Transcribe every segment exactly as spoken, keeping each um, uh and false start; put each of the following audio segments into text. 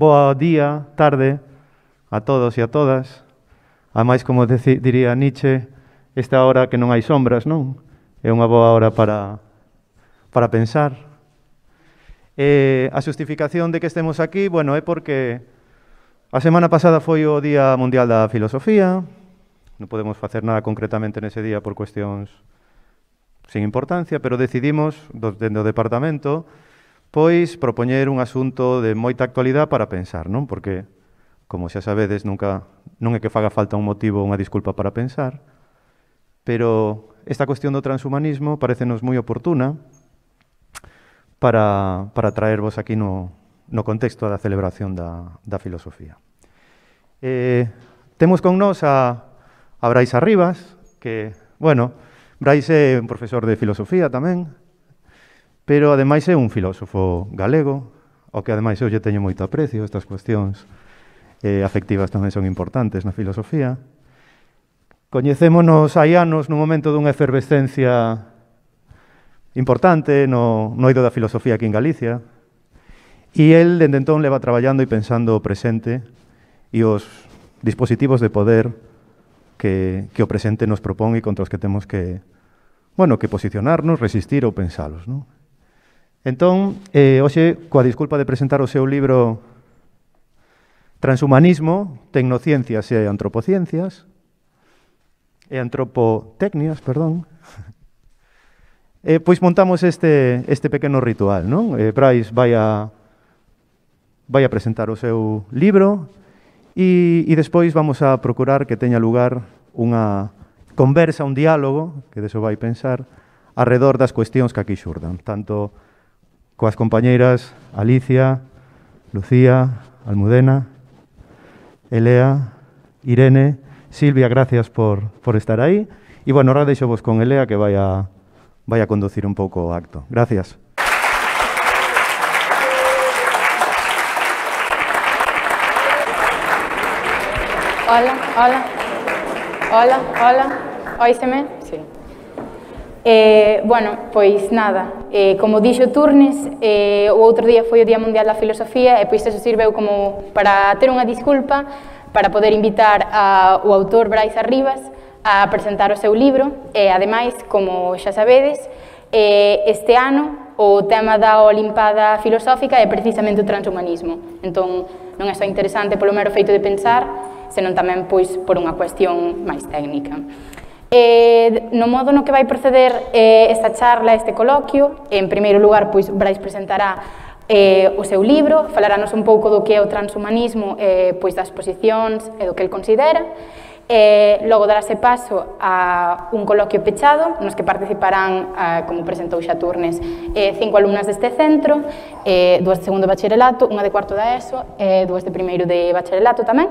boa día, tarde, a todos e a todas. Ademais, como diría Nietzsche, esta hora que non hai sombras, non? É unha boa hora para, para pensar. E a justificación de que estemos aquí, bueno, é porque a semana pasada foi o Día Mundial da Filosofía. Non podemos facer nada concretamente nese día por cuestións sin importancia, pero decidimos, dentro do departamento, pois propoñer un asunto de moita actualidade para pensar, non? Porque, como xa sabedes, nunca, non é que faga falta un motivo ou unha disculpa para pensar, pero esta cuestión do transhumanismo parecenos moi oportuna para, para traervos aquí no, no contexto da celebración da, da filosofía. Eh, temos con nós a, a Brais Arribas, que, bueno, Brais é un profesor de filosofía tamén, pero ademais é un filósofo galego, ao que ademais eu lle teño moito aprecio. Estas cuestións eh, afectivas tamén son importantes na filosofía. Coñecémonos hai anos nun momento dunha efervescencia importante no, no eido da filosofía aquí en Galicia, e el, dende entón, leva traballando e pensando o presente e os dispositivos de poder que, que o presente nos propón e contra os que temos que, bueno, que posicionarnos, resistir ou pensalos, non? Entón, eh, hoxe, coa disculpa de presentar o seu libro Transhumanismo, Tecnociencias e Antropociencias, e Antropotecnias, perdón, eh, pois montamos este, este pequeno ritual, non? Eh, Brais vai a, vai a presentar o seu libro e, e despois vamos a procurar que teña lugar unha conversa, un diálogo, que deso vai pensar, arredor das cuestións que aquí xurdan, tanto coas compañeiras Alicia, Lucía, Almudena, Elea, Irene, Silvia, gracias por, por estar aí. E, bueno, ahora deixo vos con Elea, que vai a, vai a conducir un pouco o acto. Gracias. Hola, hola, hola, hola, oíseme? Sí. Eh, bueno, pois nada, eh, como dixo Turnes, eh, o outro día foi o Día Mundial da Filosofía e pois eso sirveu como para ter unha disculpa para poder invitar ao autor Brais Arribas a presentar o seu libro e, ademais, como xa sabedes, eh, este ano o tema da Olimpada Filosófica é precisamente o transhumanismo. Entón, non é só interesante polo mero feito de pensar, senón tamén pois por unha cuestión máis técnica. Eh, no modo no que vai proceder eh, esta charla, este coloquio, en primeiro lugar, pois, Brais presentará eh, o seu libro, falarános un pouco do que é o transhumanismo, eh, pois das posicións e do que el considera. Eh, logo darase paso a un coloquio pechado, nos que participarán, eh, como presentou xa Turnes, eh, cinco alumnas deste centro, eh, dúas de segundo de bacharelato, unha de cuarto da ESO e dúas de primeiro de bacharelato tamén.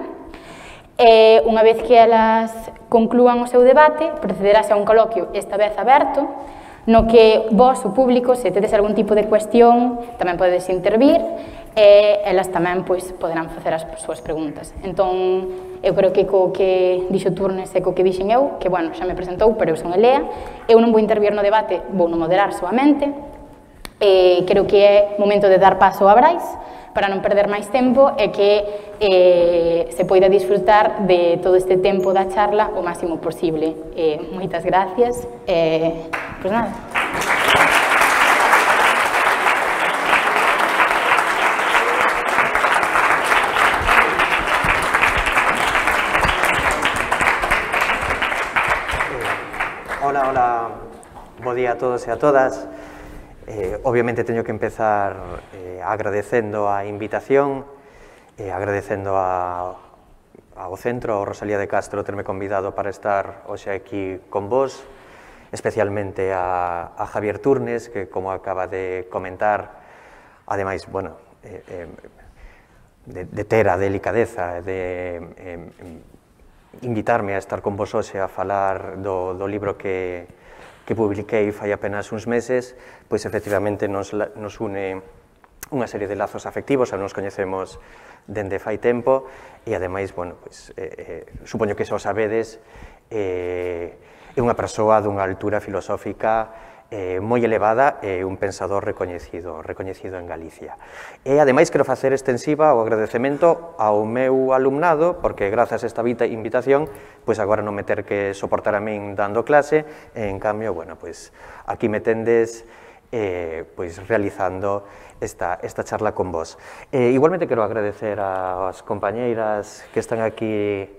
E, unha vez que elas conclúan o seu debate, procederase a un coloquio, esta vez aberto, no que vos, o público, se tedes algún tipo de cuestión, tamén podedes intervir, e elas tamén pois, poderán facer as súas preguntas. Entón, eu creo que co que dixo Turnes e co que dixen eu, que, bueno, xa me presentou, pero eu son Elea, eu non vou intervir no debate, vou no moderar soamente, e creo que é momento de dar paso a Brais, para non perder máis tempo e que eh, se poida disfrutar de todo este tempo da charla o máximo posible. Eh, moitas gracias. Eh, pois nada. Hola, hola. Bo día a todos e a todas. Eh, obviamente teño que empezar eh, agradecendo a invitación, eh, agradecendo a, ao centro, ao Rosalía de Castro, terme convidado para estar hoxe aquí con vos, especialmente a, a Javier Turnes, que, como acaba de comentar, ademais, bueno, eh, eh, de, de ter a delicadeza de eh, invitarme a estar con vos hoxe a falar do, do libro que que publiquei fai apenas uns meses, pois efectivamente nos, nos une unha serie de lazos afectivos, nos coñecemos dende fai tempo, e ademais, bueno, pois, eh, eh, supoño que xa o sabedes, eh, é unha persoa dunha altura filosófica eh, moi elevada e un pensador recoñecido, recoñecido en Galicia. E, ademais, quero facer extensiva o agradecemento ao meu alumnado, porque grazas a esta invitación, pois agora non me ter que soportar a min dando clase, e, en cambio, bueno, pois aquí me tendes eh, pois realizando esta, esta charla con vos. Eh, igualmente quero agradecer ás compañeiras que están aquí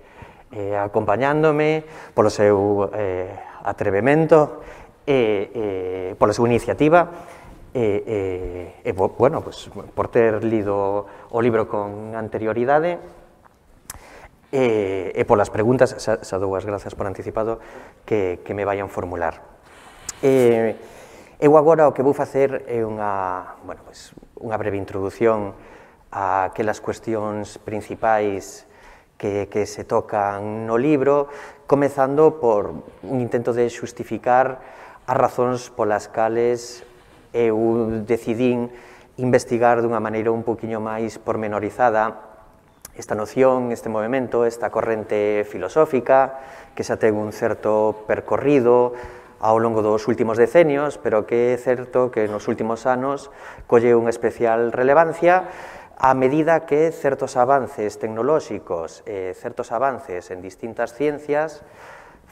eh, acompañándome polo seu eh, atrevemento, E, e, pola súa iniciativa e, e, e bueno, pues, por ter lido o libro con anterioridade e, e polas preguntas, xa, xa dou as grazas por anticipado que, que me vayan formular. E, eu agora o que vou facer é unha, bueno, pues, unha breve introdución a aquelas cuestións principais que, que se tocan no libro, comezando por un intento de xustificar as razóns polas cales eu decidín investigar dunha maneira un poquinho máis pormenorizada esta noción, este movimento, esta corrente filosófica que xa ten un certo percorrido ao longo dos últimos decenios, pero que é certo que nos últimos anos colle unha especial relevancia a medida que certos avances tecnolóxicos e certos avances en distintas ciencias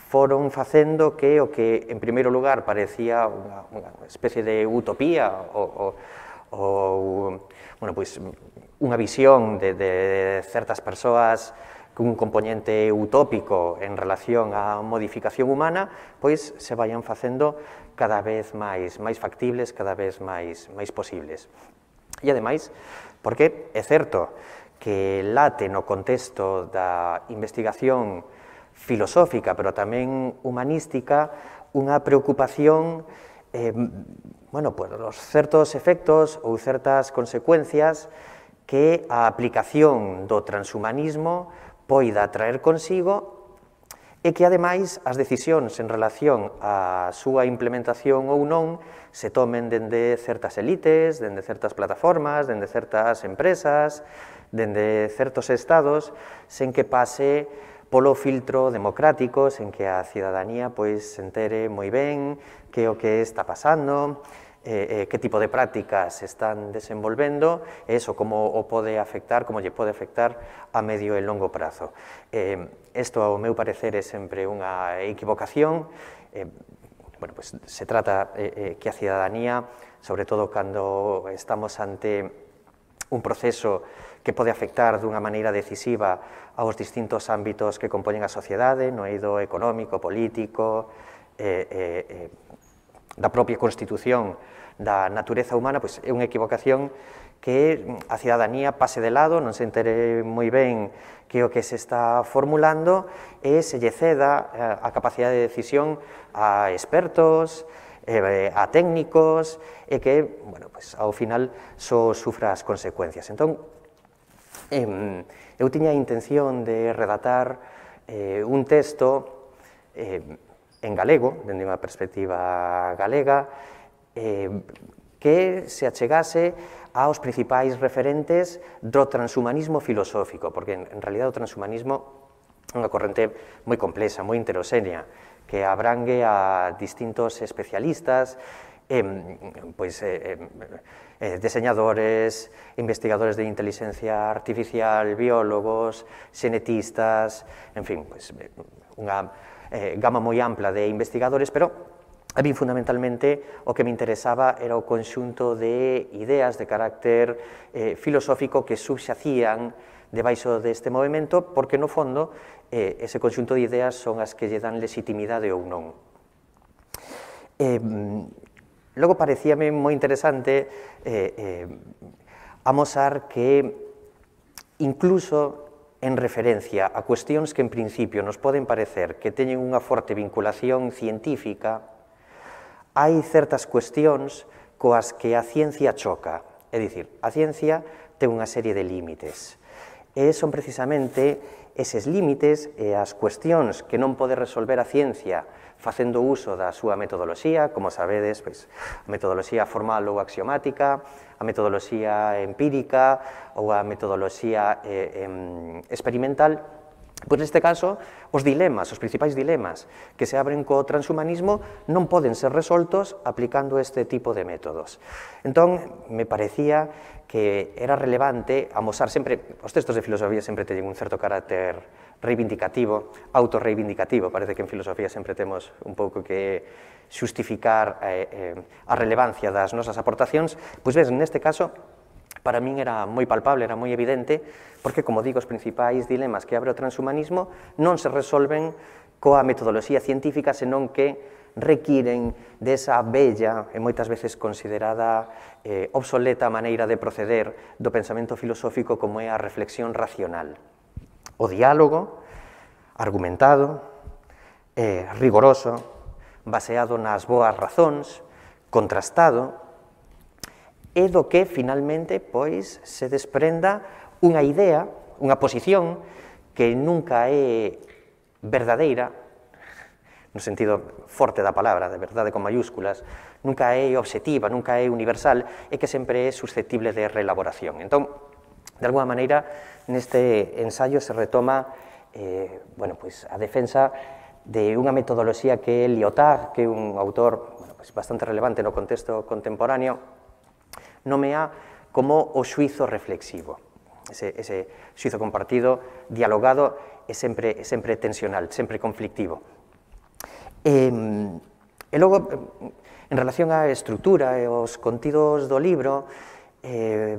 foron facendo que o que, en primeiro lugar, parecía unha, unha especie de utopía ou, ou bueno, pois, unha visión de, de certas persoas cun componente utópico en relación á modificación humana, pois se vayan facendo cada vez máis, máis factibles, cada vez máis, máis posibles. E, ademais, porque é certo que late no contexto da investigación filosófica, pero tamén humanística, unha preocupación eh, bueno, por os certos efectos ou certas consecuencias que a aplicación do transhumanismo poida traer consigo e que, ademais, as decisións en relación á súa implementación ou non se tomen dende certas elites, dende certas plataformas, dende certas empresas, dende certos estados, sen que pase polo filtro democrático, sen que a cidadanía pois se entere moi ben que o que está pasando, eh, eh, que tipo de prácticas se están desenvolvendo, e iso como o pode afectar, como lle pode afectar a medio e longo prazo. Eh, isto, ao meu parecer, é sempre unha equivocación. Eh, bueno, pues, se trata eh, eh, que a cidadanía, sobre todo cando estamos ante un proceso que pode afectar dunha maneira decisiva aos distintos ámbitos que compoñen a sociedade, no eido económico, político, eh, eh, eh, da propia constitución da natureza humana, pois é unha equivocación que a cidadanía pase de lado, non se entere moi ben que o que se está formulando e se lle ceda a capacidade de decisión a expertos, eh, a técnicos, e que, bueno, pues, ao final só sufra as consecuencias. Entón, eh, eu tiña a intención de redactar eh, un texto eh, en galego, dende unha perspectiva galega, eh, que se achegase aos principais referentes do transhumanismo filosófico, porque, en, en realidad, o transhumanismo é unha corrente moi complexa, moi heteroxénea, que abrangue a distintos especialistas, eh, pois, eh, eh, diseñadores, investigadores de inteligencia artificial, biólogos, xenetistas, en fin, pois, unha eh, gama moi ampla de investigadores, pero a mí, fundamentalmente, o que me interesaba era o conxunto de ideas de carácter eh, filosófico que subxacían debaixo deste movimento, porque, no fondo, eh, ese conxunto de ideas son as que lle dan legitimidade ou non. Eh, logo, parecíame moi interesante eh, eh, amosar que, incluso en referencia a cuestións que, en principio, nos poden parecer que teñen unha forte vinculación científica, hai certas cuestións coas que a ciencia choca. É dicir, a ciencia ten unha serie de límites. E son precisamente eses límites e as cuestións que non pode resolver a ciencia facendo uso da súa metodoloxía, como sabedes, pois, a metodoloxía formal ou axiomática, a metodoloxía empírica ou a metodoloxía eh, eh, experimental, Pois neste caso, os dilemas, os principais dilemas que se abren co transhumanismo non poden ser resoltos aplicando este tipo de métodos. Entón, me parecía que era relevante amosar sempre, os textos de filosofía sempre teñen un certo carácter reivindicativo, autorreivindicativo, parece que en filosofía sempre temos un pouco que xustificar eh, eh, a relevancia das nosas aportacións, pois ves, neste caso, para min era moi palpable, era moi evidente, porque, como digo, os principais dilemas que abre o transhumanismo non se resolven coa metodoloxía científica, senón que requiren desa bella e moitas veces considerada eh, obsoleta maneira de proceder do pensamento filosófico como é a reflexión racional. O diálogo, argumentado, eh, rigoroso, baseado nas boas razóns, contrastado, é do que finalmente pois se desprenda unha idea, unha posición que nunca é verdadeira, no sentido forte da palabra, de verdade con mayúsculas, nunca é obxectiva, nunca é universal, e que sempre é susceptible de reelaboración. Entón, de alguma maneira, neste ensaio se retoma eh, bueno, pues, a defensa de unha metodoloxía que é Lyotard, que é un autor bueno, pues, bastante relevante no contexto contemporáneo, nomea como o xuizo reflexivo. Ese, ese xuizo compartido, dialogado, é sempre, é sempre tensional, sempre conflictivo. E, e logo, en relación á estrutura e aos contidos do libro, eh,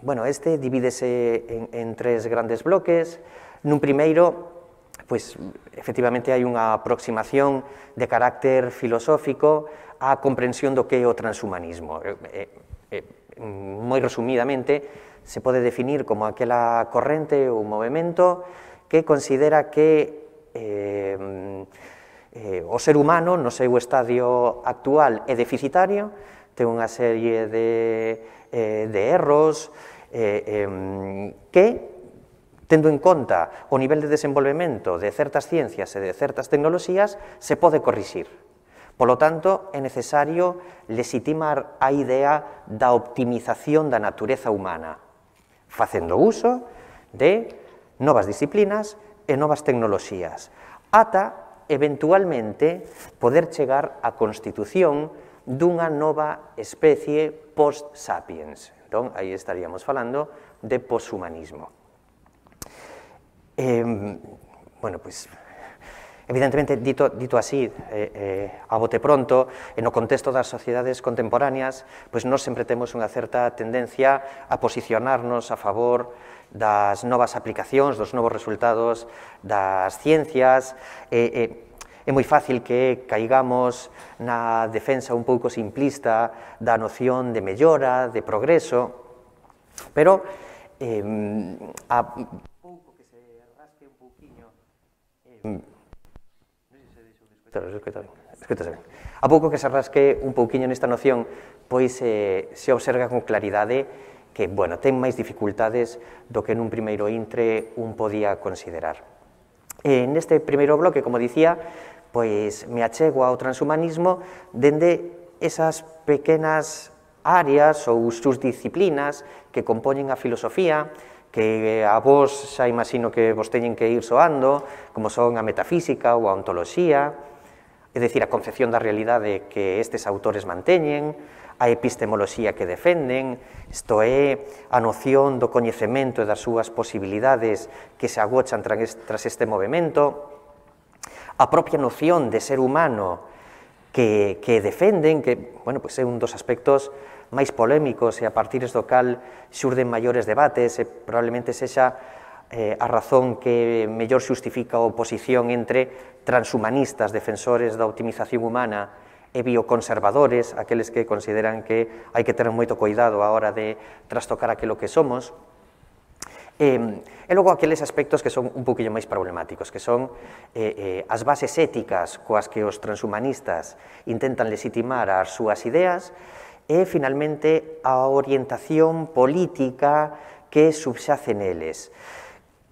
bueno, este divídese en, en tres grandes bloques. Nun primeiro, pois, efectivamente, hai unha aproximación de carácter filosófico á comprensión do que é o transhumanismo. Eh, eh, moi resumidamente, se pode definir como aquela corrente ou movimento que considera que eh, eh, o ser humano no seu estadio actual é deficitario, ten unha serie de, eh, de erros eh, eh, que, tendo en conta o nivel de desenvolvemento de certas ciencias e de certas tecnoloxías, se pode corrixir. Polo tanto, é necesario legitimar a idea da optimización da natureza humana, facendo uso de novas disciplinas e novas tecnoloxías, ata, eventualmente, poder chegar á constitución dunha nova especie post-sapiens. Entón, aí estaríamos falando de poshumanismo. Eh, bueno, pois, evidentemente, dito, dito así, eh, eh, a bote pronto, e no contexto das sociedades contemporáneas, pois nós sempre temos unha certa tendencia a posicionarnos a favor das novas aplicacións, dos novos resultados das ciencias. Eh, eh, é moi fácil que caigamos na defensa un pouco simplista da noción de mellora, de progreso, pero eh, a pouco que se rasque un pouquiño... Eh, A pouco que se rasque un pouquiño nesta noción, pois eh, se observa con claridade que, bueno, ten máis dificultades do que nun primeiro intre un podía considerar. E neste primeiro bloque, como dicía, pois me achego ao transhumanismo dende esas pequenas áreas ou subdisciplinas que compoñen a filosofía, que a vos xa imagino que vos teñen que ir soando, como son a metafísica ou a ontoloxía, é dicir, a concepción da realidade que estes autores manteñen, a epistemoloxía que defenden, isto é, a noción do coñecemento e das súas posibilidades que se agochan tras este movimento, a propia noción de ser humano que, que defenden, que, bueno, pues é un dos aspectos máis polémicos e a partir do cal xurden maiores debates e probablemente sexa eh, a razón que mellor xustifica a oposición entre transhumanistas, defensores da optimización humana, e bioconservadores, aqueles que consideran que hai que ter moito cuidado a hora de trastocar aquilo que somos. E, e logo aqueles aspectos que son un poquinho máis problemáticos, que son eh, eh, as bases éticas coas que os transhumanistas intentan legitimar as súas ideas e, finalmente, a orientación política que subxace neles.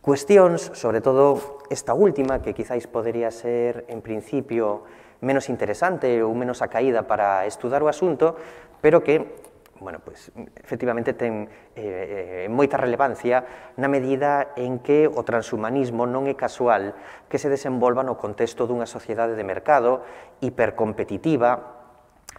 Cuestións, sobre todo esta última, que quizáis podería ser, en principio, menos interesante ou menos acaída para estudar o asunto, pero que, bueno, pues, efectivamente ten eh, moita relevancia na medida en que o transhumanismo non é casual que se desenvolva no contexto dunha sociedade de mercado hipercompetitiva,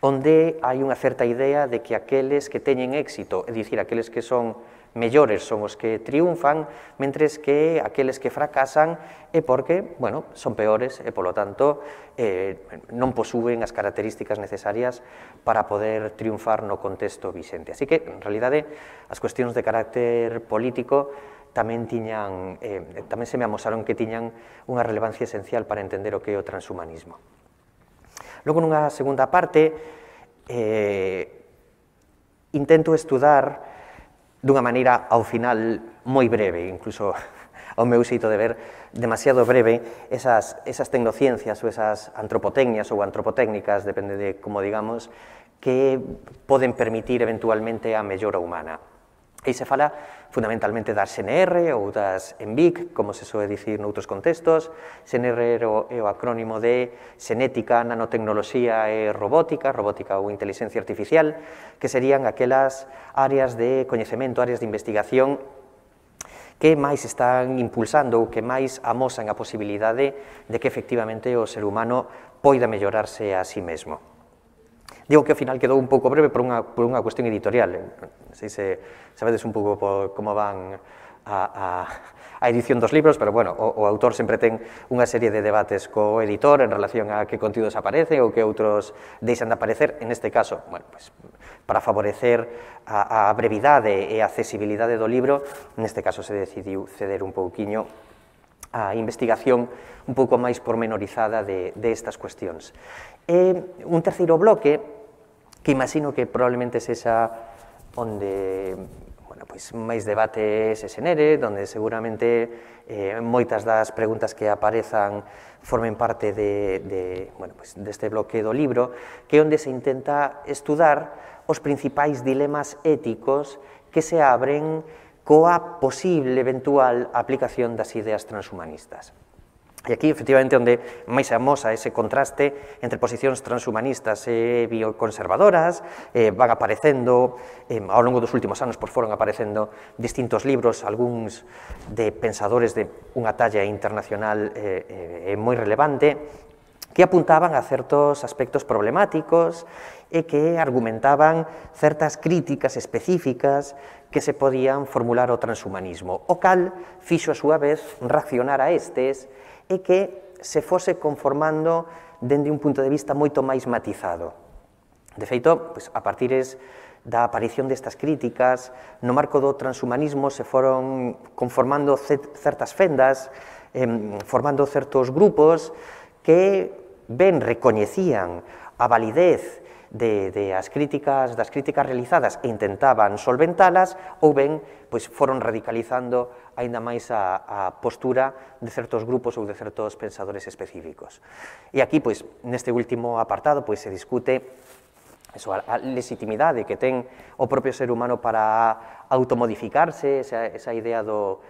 onde hai unha certa idea de que aqueles que teñen éxito, é dicir, aqueles que son mellores son os que triunfan, mentres que aqueles que fracasan é porque, bueno, son peores e, polo tanto, eh, non posúen as características necesarias para poder triunfar no contexto vixente. Así que, en realidade, as cuestións de carácter político tamén tiñan, eh, tamén se me amosaron que tiñan unha relevancia esencial para entender o que é o transhumanismo. Logo, nunha segunda parte, eh, intento estudar dunha maneira, ao final, moi breve, incluso ao meu xeito de ver, demasiado breve, esas, esas tecnociencias ou esas antropotecnias ou antropotécnicas, depende de como digamos, que poden permitir eventualmente a mellora humana. E se fala fundamentalmente das X N R ou das E N V I C, como se soe dicir noutros contextos. X N R é o, é o acrónimo de xenética, nanotecnoloxía e robótica, robótica ou inteligencia artificial, que serían aquelas áreas de coñecemento, áreas de investigación que máis están impulsando ou que máis amosan a posibilidade de que efectivamente o ser humano poida mellorarse a sí mesmo. Digo que ao final quedou un pouco breve por unha, por unha cuestión editorial. Non sei se sabedes un pouco por como van a, a, a edición dos libros, pero, bueno, o, o autor sempre ten unha serie de debates co editor en relación a que contidos aparecen ou que outros deixan de aparecer. En este caso, bueno, pues, para favorecer a, a brevidade e a accesibilidade do libro, neste caso se decidiu ceder un pouquiño a investigación un pouco máis pormenorizada de, de estas cuestións. E un terceiro bloque, que imagino que probablemente sexa onde, bueno, pois, máis debate se xenere, onde seguramente eh, moitas das preguntas que aparezan formen parte de, de, bueno, pois, deste bloque do libro, que é onde se intenta estudar os principais dilemas éticos que se abren coa posible eventual aplicación das ideas transhumanistas. E aquí, efectivamente, onde máis se amosa ese contraste entre posicións transhumanistas e bioconservadoras, eh, van aparecendo, eh, ao longo dos últimos anos, pois foron aparecendo distintos libros, algúns de pensadores de unha talla internacional eh, eh, moi relevante, que apuntaban a certos aspectos problemáticos e que argumentaban certas críticas específicas que se podían formular ao transhumanismo, o cal fixo a súa vez reaccionar a estes e que se fose conformando dende un punto de vista moito máis matizado. De feito, pues, a partires da aparición destas críticas, no marco do transhumanismo se foron conformando certas fendas, eh, formando certos grupos que ben recoñecían a validez de, de as críticas, das críticas realizadas e intentaban solventalas, ou ben pois, foron radicalizando aínda máis a, a postura de certos grupos ou de certos pensadores específicos. E aquí, pois, neste último apartado, pois, se discute eso, a, a legitimidade que ten o propio ser humano para automodificarse, esa, esa idea do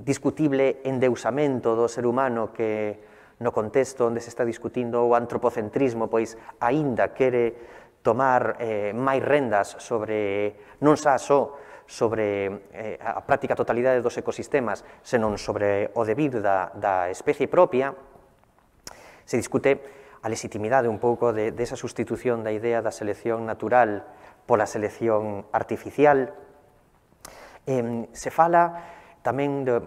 discutible endeusamento do ser humano que no contexto onde se está discutindo o antropocentrismo, pois aínda quere tomar eh, máis rendas sobre, non xa só sobre eh, a práctica totalidade dos ecosistemas, senón sobre o devir da, da especie propia. Se discute a legitimidade un pouco de, de esa sustitución da idea da selección natural pola selección artificial. Eh, se fala tamén do,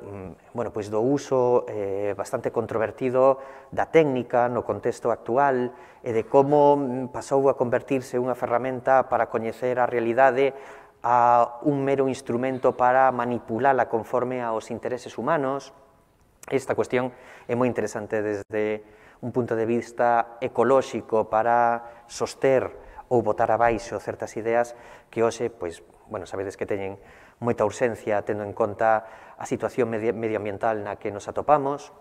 bueno, pois do uso eh, bastante controvertido da técnica no contexto actual e de como pasou a convertirse unha ferramenta para coñecer a realidade a un mero instrumento para manipulala conforme aos intereses humanos. Esta cuestión é moi interesante desde un punto de vista ecolóxico para soster ou botar abaixo certas ideas que hoxe, pois, bueno, sabedes que teñen moita urxencia tendo en conta a situación medioambiental na que nos atopamos.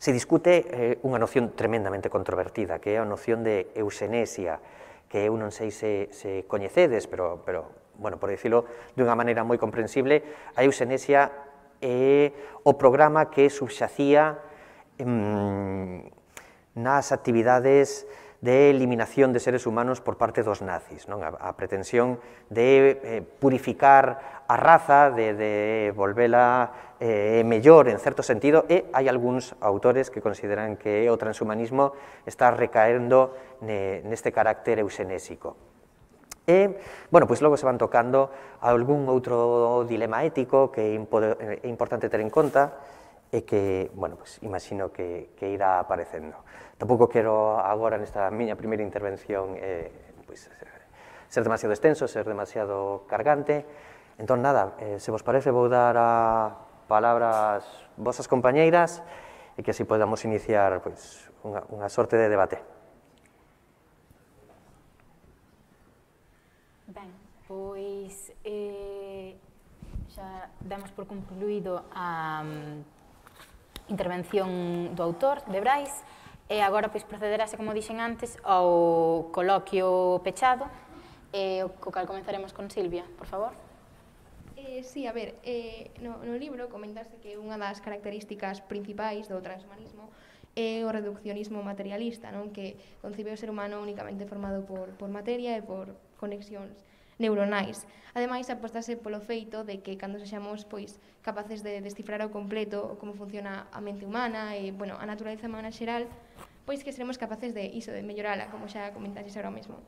Se discute eh, unha noción tremendamente controvertida, que é a noción de euxenesia, que eu non sei se, se coñecedes, pero, pero bueno, por dicilo dunha maneira moi comprensible, a euxenesia é o programa que subxacía mm, nas actividades de eliminación de seres humanos por parte dos nazis, non? A, a pretensión de eh, purificar a raza, de, de volvela eh, mellor en certo sentido, e hai algúns autores que consideran que o transhumanismo está recaendo ne, neste carácter eusenésico. E, bueno, pois logo se van tocando algún outro dilema ético que é importante ter en conta e que, bueno, pois imagino que, que irá aparecendo. Tampouco quero agora nesta miña primeira intervención eh, pois, ser demasiado extenso, ser demasiado cargante. Entón, nada, eh, se vos parece, vou dar a palabra ás vosas compañeiras e que así podamos iniciar pois, unha, unha sorte de debate. Ben, pois eh, xa damos por concluído a um, intervención do autor, de Brais, e agora pois procederase, como dixen antes, ao coloquio pechado, e o co cal comenzaremos con Silvia, por favor. Eh, sí, a ver, eh, no, no libro comentase que unha das características principais do transhumanismo é o reduccionismo materialista, non? Que concibe o ser humano únicamente formado por, por materia e por conexións neuronais. Ademais, apostase polo feito de que cando sexamos pois, capaces de descifrar ao completo como funciona a mente humana e bueno, a naturaleza humana xeral, pois que seremos capaces de iso, de mellorala, como xa comentaxes agora mesmo.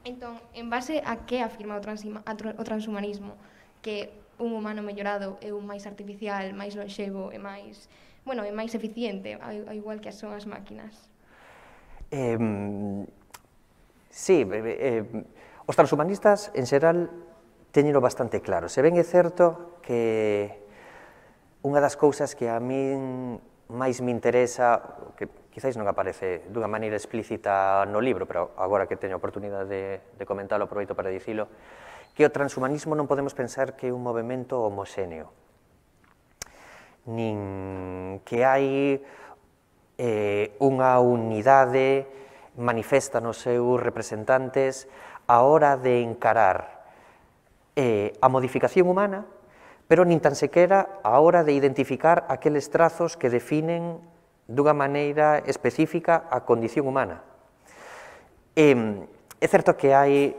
Entón, en base a que afirma o, o transhumanismo? Que un humano mellorado é un máis artificial, máis lonxevo e máis, bueno, é máis eficiente, ao igual que son as máquinas. Eh, sí, eh, os transhumanistas, en xeral, teñeno bastante claro. Se ben é certo que unha das cousas que a min máis me interesa, que quizáis non aparece dunha maneira explícita no libro, pero agora que teño a oportunidade de, de comentarlo, aproveito para dicilo, que o transhumanismo non podemos pensar que é un movimento homoxéneo, nin que hai eh, unha unidade manifesta nos seus representantes a hora de encarar eh, a modificación humana, pero nin tan sequera a hora de identificar aqueles trazos que definen dunha maneira específica a condición humana. Eh, é certo que hai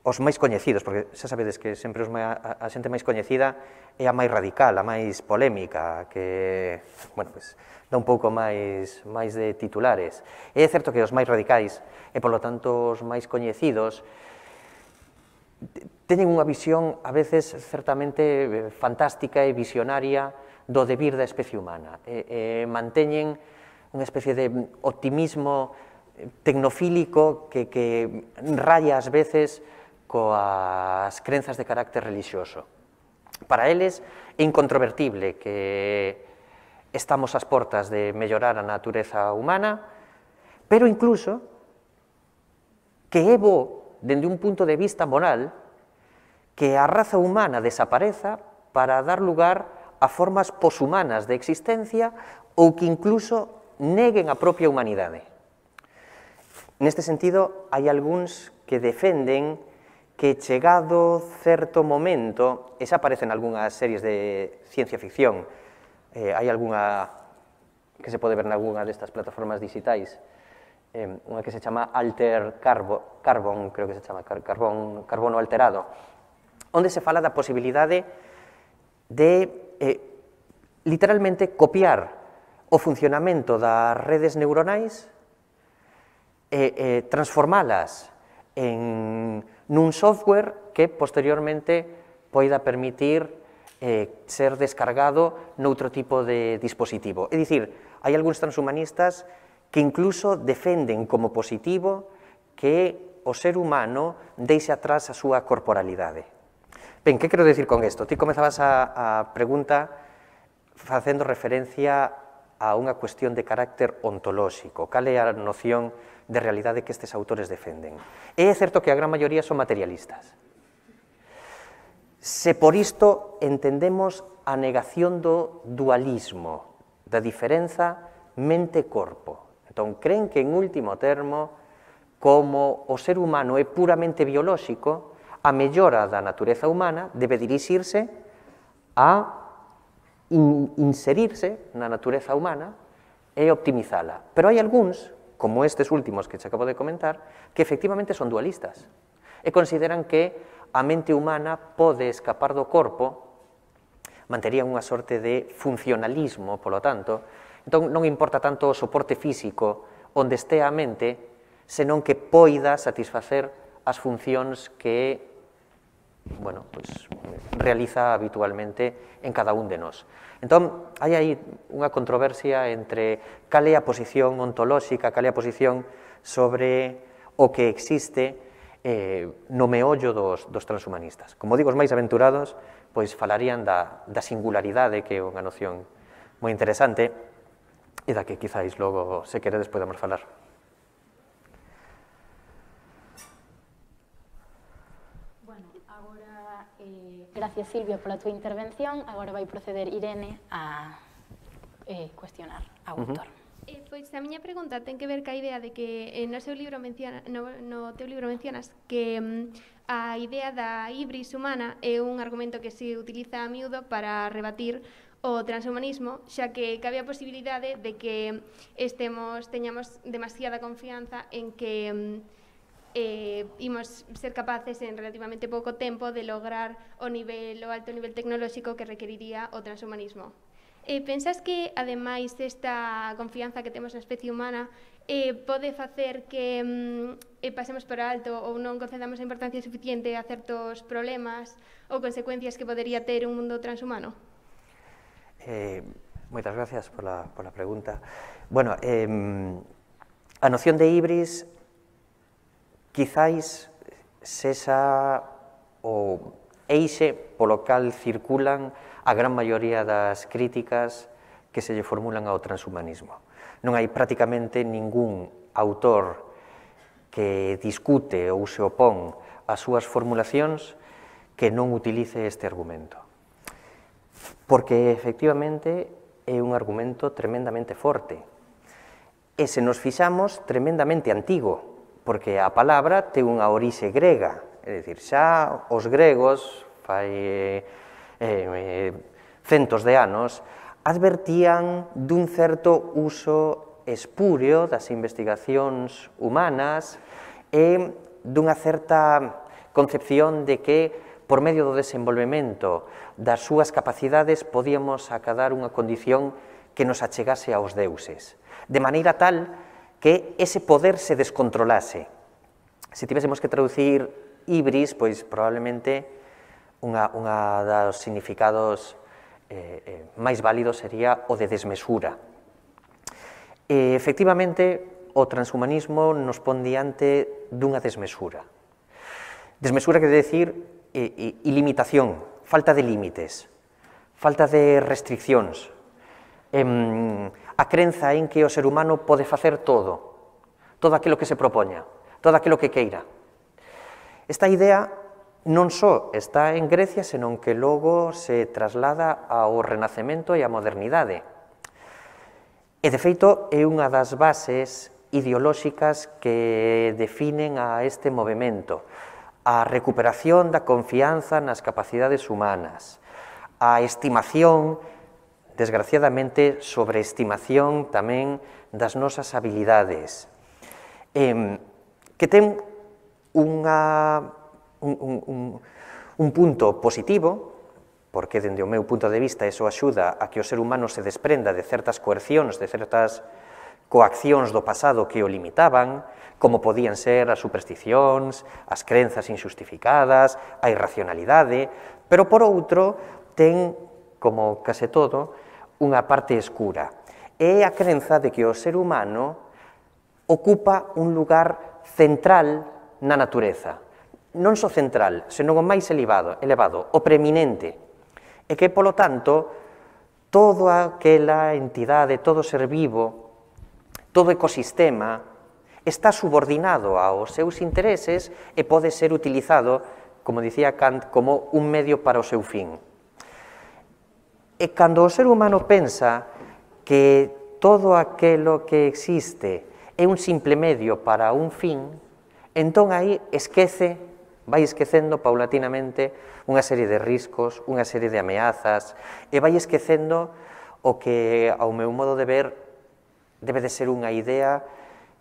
os máis coñecidos, porque xa sabedes que sempre os máis, a, a xente máis coñecida é a máis radical, a máis polémica, que, bueno, pues, dá un pouco máis, máis de titulares. E é certo que os máis radicais, e polo tanto os máis coñecidos, teñen unha visión, a veces, certamente fantástica e visionaria do devir da especie humana. E, e manteñen unha especie de optimismo tecnofílico que, que raya ás veces coas crenzas de carácter religioso. Para eles é incontrovertible que estamos ás portas de mellorar a natureza humana, pero incluso que é bo, dende un punto de vista moral, que a raza humana desapareza para dar lugar a formas poshumanas de existencia ou que incluso neguen a propia humanidade. Neste sentido, hai algúns que defenden que chegado certo momento, e xa aparecen algunhas series de ciencia ficción, eh, hai algunha que se pode ver nalgúna destas plataformas digitais, eh, unha que se chama Alter Carbo, Carbon, creo que se chama, carbon, carbono alterado, onde se fala da posibilidade de, eh, literalmente, copiar o funcionamento das redes neuronais e eh, transformalas en nun software que posteriormente poida permitir eh, ser descargado noutro tipo de dispositivo. É dicir, hai algúns transhumanistas que incluso defenden como positivo que o ser humano deixe atrás a súa corporalidade. Ben, que quero decir con isto? Ti comezabas a, a pregunta facendo referencia a unha cuestión de carácter ontolóxico. Cal é a noción de realidade que estes autores defenden? E é certo que a gran maioría son materialistas. Se por isto entendemos a negación do dualismo, da diferenza mente-corpo. Entón, creen que, en último termo, como o ser humano é puramente biolóxico, a mellora da natureza humana debe dirixirse a in, inserirse na natureza humana e optimizala. Pero hai algúns como estes últimos que che acabo de comentar, que efectivamente son dualistas e consideran que a mente humana pode escapar do corpo, manterían unha sorte de funcionalismo, polo tanto, entón non importa tanto o soporte físico onde este a mente, senón que poida satisfacer as funcións que, bueno, pues, realiza habitualmente en cada un de nós. Entón, hai aí unha controversia entre cal é a posición ontolóxica, cal é a posición sobre o que existe eh, no meollo dos, dos transhumanistas. Como digo, os máis aventurados, pois falarían da, da singularidade, que é unha noción moi interesante, e da que quizáis logo, se queredes, podemos falar. Bueno, agora, eh, gracias Silvia pola túa intervención, agora vai proceder Irene a eh, cuestionar ao autor. Uh-huh. Eh, pois a miña pregunta ten que ver ca idea de que eh, no seu libro menciona, no, no teu libro mencionas que mm, a idea da híbris humana é un argumento que se utiliza a miúdo para rebatir o transhumanismo, xa que cabe a posibilidade de que estemos, teñamos demasiada confianza en que mm, eh, imos ser capaces en relativamente pouco tempo de lograr o nivel, o alto nivel tecnolóxico que requeriría o transhumanismo. Eh, pensas que, ademais desta confianza que temos na especie humana, eh, pode facer que mm, eh, pasemos por alto ou non concedamos a importancia suficiente a certos problemas ou consecuencias que podería ter un mundo transhumano? Eh, moitas gracias pola, pola pregunta. Bueno, eh, a noción de híbris quizáis sexa o eixe polo cal circulan a gran maioría das críticas que se lle formulan ao transhumanismo. Non hai prácticamente ningún autor que discute ou se opón ás súas formulacións que non utilice este argumento. Porque, efectivamente, é un argumento tremendamente forte. E se nos fixamos, tremendamente antigo, porque a palabra ten unha orixe grega. É dicir, xa os gregos, fai eh, centos de anos, advertían dun certo uso espúreo das investigacións humanas e dunha certa concepción de que, por medio do desenvolvemento das súas capacidades, podíamos acadar unha condición que nos achegase aos deuses, de maneira tal que ese poder se descontrolase. Se tivésemos que traducir híbris, pois probablemente Unha, unha dos significados eh, eh, máis válidos sería o de desmesura. E, efectivamente, o transhumanismo nos pon diante dunha desmesura. Desmesura quere decir eh, eh, ilimitación, falta de límites, falta de restriccións, eh, a crenza en que o ser humano pode facer todo, todo aquilo que se propoña, todo aquilo que queira. Esta idea non só está en Grecia, senón que logo se traslada ao Renacemento e á modernidade. E, de feito, é unha das bases ideolóxicas que definen a este movimento, a recuperación da confianza nas capacidades humanas, a estimación, desgraciadamente, sobreestimación tamén das nosas habilidades, eh, que ten unha Un, un, un punto positivo, porque, dende o meu punto de vista, eso axuda a que o ser humano se desprenda de certas coercións, de certas coaccións do pasado que o limitaban, como podían ser as supersticións, as crenzas injustificadas, a irracionalidade, pero, por outro, ten, como case todo, unha parte escura. É a crenza de que o ser humano ocupa un lugar central na natureza. Non só central, senón o máis elevado, elevado, o preeminente, e que, polo tanto, toda aquela entidade, todo ser vivo, todo ecosistema, está subordinado aos seus intereses e pode ser utilizado, como dicía Kant, como un medio para o seu fin. E cando o ser humano pensa que todo aquilo que existe é un simple medio para un fin, entón aí esquece vai esquecendo paulatinamente unha serie de riscos, unha serie de ameazas, e vai esquecendo o que, ao meu modo de ver, debe de ser unha idea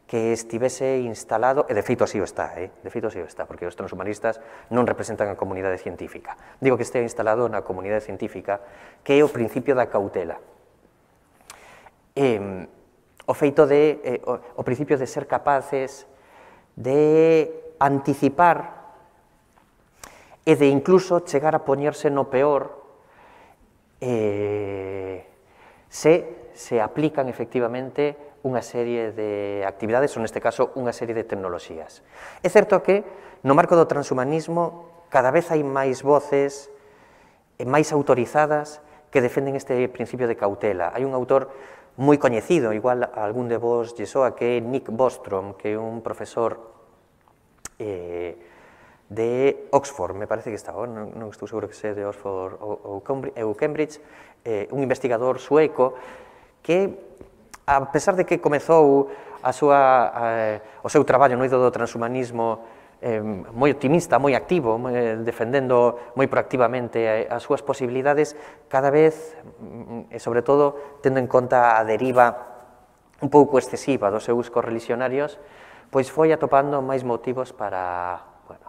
que estivese instalado, e de feito así o está, eh? de feito así o está, porque os transhumanistas non representan a comunidade científica. Digo que estea instalado na comunidade científica, que é o principio da cautela. Eh, o feito de, eh, o, o principio de ser capaces de anticipar e de incluso chegar a poñerse no peor eh, se se aplican efectivamente unha serie de actividades, ou neste caso unha serie de tecnoloxías. É certo que no marco do transhumanismo cada vez hai máis voces máis autorizadas que defenden este principio de cautela. Hai un autor moi coñecido, igual a algún de vos lle soa, que é Nick Bostrom, que é un profesor eh, de Oxford, me parece que está, non, non estou seguro que sea de Oxford ou, ou Cambridge, eh, un investigador sueco que, a pesar de que comezou a súa, eh, o seu traballo no eido do transhumanismo eh, moi optimista, moi activo, moi, defendendo moi proactivamente as súas posibilidades, cada vez, e sobre todo, tendo en conta a deriva un pouco excesiva dos seus correligionarios, pois foi atopando máis motivos para, bueno,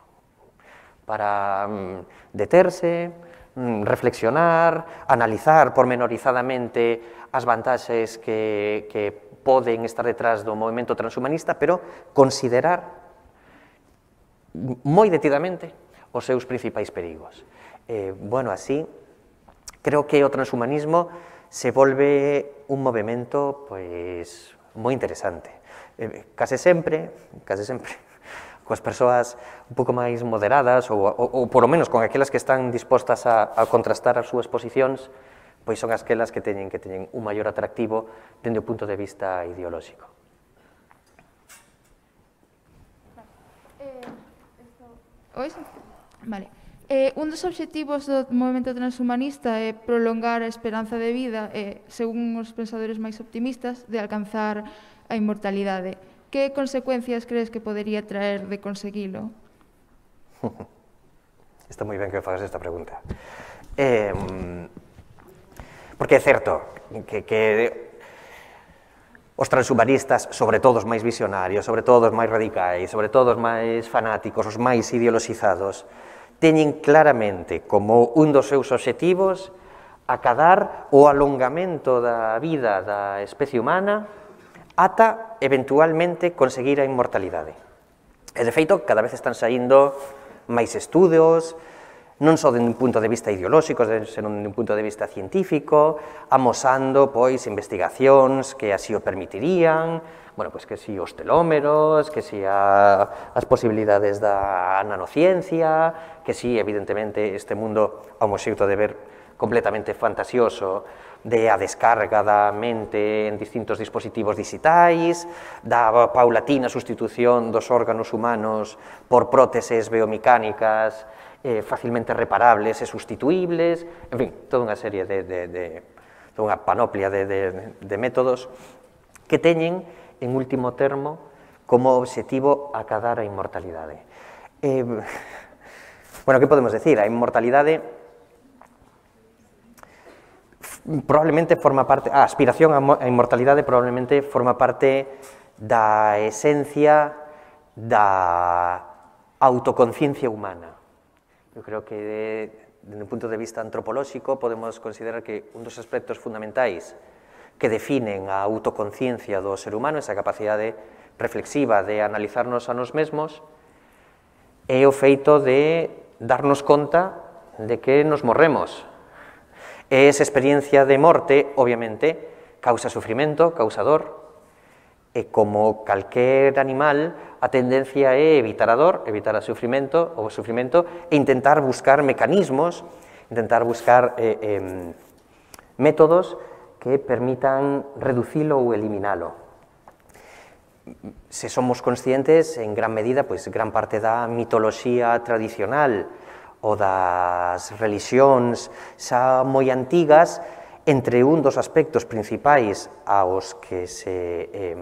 para mm, deterse, mm, reflexionar, analizar pormenorizadamente as vantaxes que, que poden estar detrás do movimento transhumanista, pero considerar moi detidamente os seus principais perigos. Eh, bueno, así, creo que o transhumanismo se volve un movimento pois, moi interesante. Eh, case sempre, case sempre, coas persoas un pouco máis moderadas ou, ou, ou polo menos con aquelas que están dispostas a, a contrastar as súas posicións, pois son aquelas que teñen que teñen un maior atractivo dende o punto de vista ideolóxico. Ois? Vale. Eh, un dos obxectivos do movimento transhumanista é prolongar a esperanza de vida e, según os pensadores máis optimistas, de alcanzar a inmortalidade. Que consecuencias crees que podería traer de conseguilo? Está moi ben que fagas esta pregunta. Eh, porque é certo que, que os transhumanistas, sobre todo os máis visionarios, sobre todo os máis radicais, sobre todo os máis fanáticos, os máis ideoloxizados, teñen claramente como un dos seus obxectivos acadar o alongamento da vida da especie humana ata, eventualmente, conseguir a inmortalidade. E, de feito, cada vez están saindo máis estudos, non só dende un punto de vista ideolóxico, senón dende un punto de vista científico, amosando, pois, investigacións que así o permitirían, bueno, pois que si os telómeros, que si a, as posibilidades da nanociencia, que si, evidentemente, este mundo a un xeito de ver completamente fantasioso de a descarga da mente en distintos dispositivos digitais, da paulatina sustitución dos órganos humanos por próteses biomecánicas eh, facilmente reparables e sustituibles, en fin, toda unha serie de, de, de toda unha panoplia de, de, de métodos que teñen, en último termo, como obxectivo acadar a inmortalidade. Eh, bueno, que podemos decir? A inmortalidade probablemente forma parte, a aspiración á inmortalidade probablemente forma parte da esencia da autoconciencia humana. Eu creo que, desde un punto de vista antropolóxico, podemos considerar que un dos aspectos fundamentais que definen a autoconciencia do ser humano, esa capacidade reflexiva de analizarnos a nos mesmos, é o feito de darnos conta de que nos morremos. E esa experiencia de morte, obviamente, causa sufrimento, causa dor, e como calquer animal, a tendencia é evitar a dor, evitar o sufrimento, o sufrimento e intentar buscar mecanismos, intentar buscar eh, eh, métodos que permitan reducilo ou eliminalo. Se somos conscientes, en gran medida, pois, gran parte da mitoloxía tradicional ou das religións xa moi antigas, entre un dos aspectos principais aos que se, eh,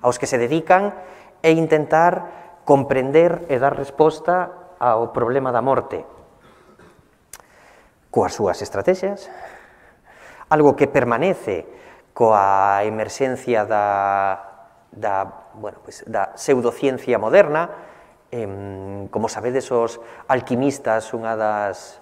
aos que se dedican é intentar comprender e dar resposta ao problema da morte coas súas estrategias, algo que permanece coa emerxencia da, da, bueno, pues, da pseudociencia moderna. Eh, como sabedes, os alquimistas, unha das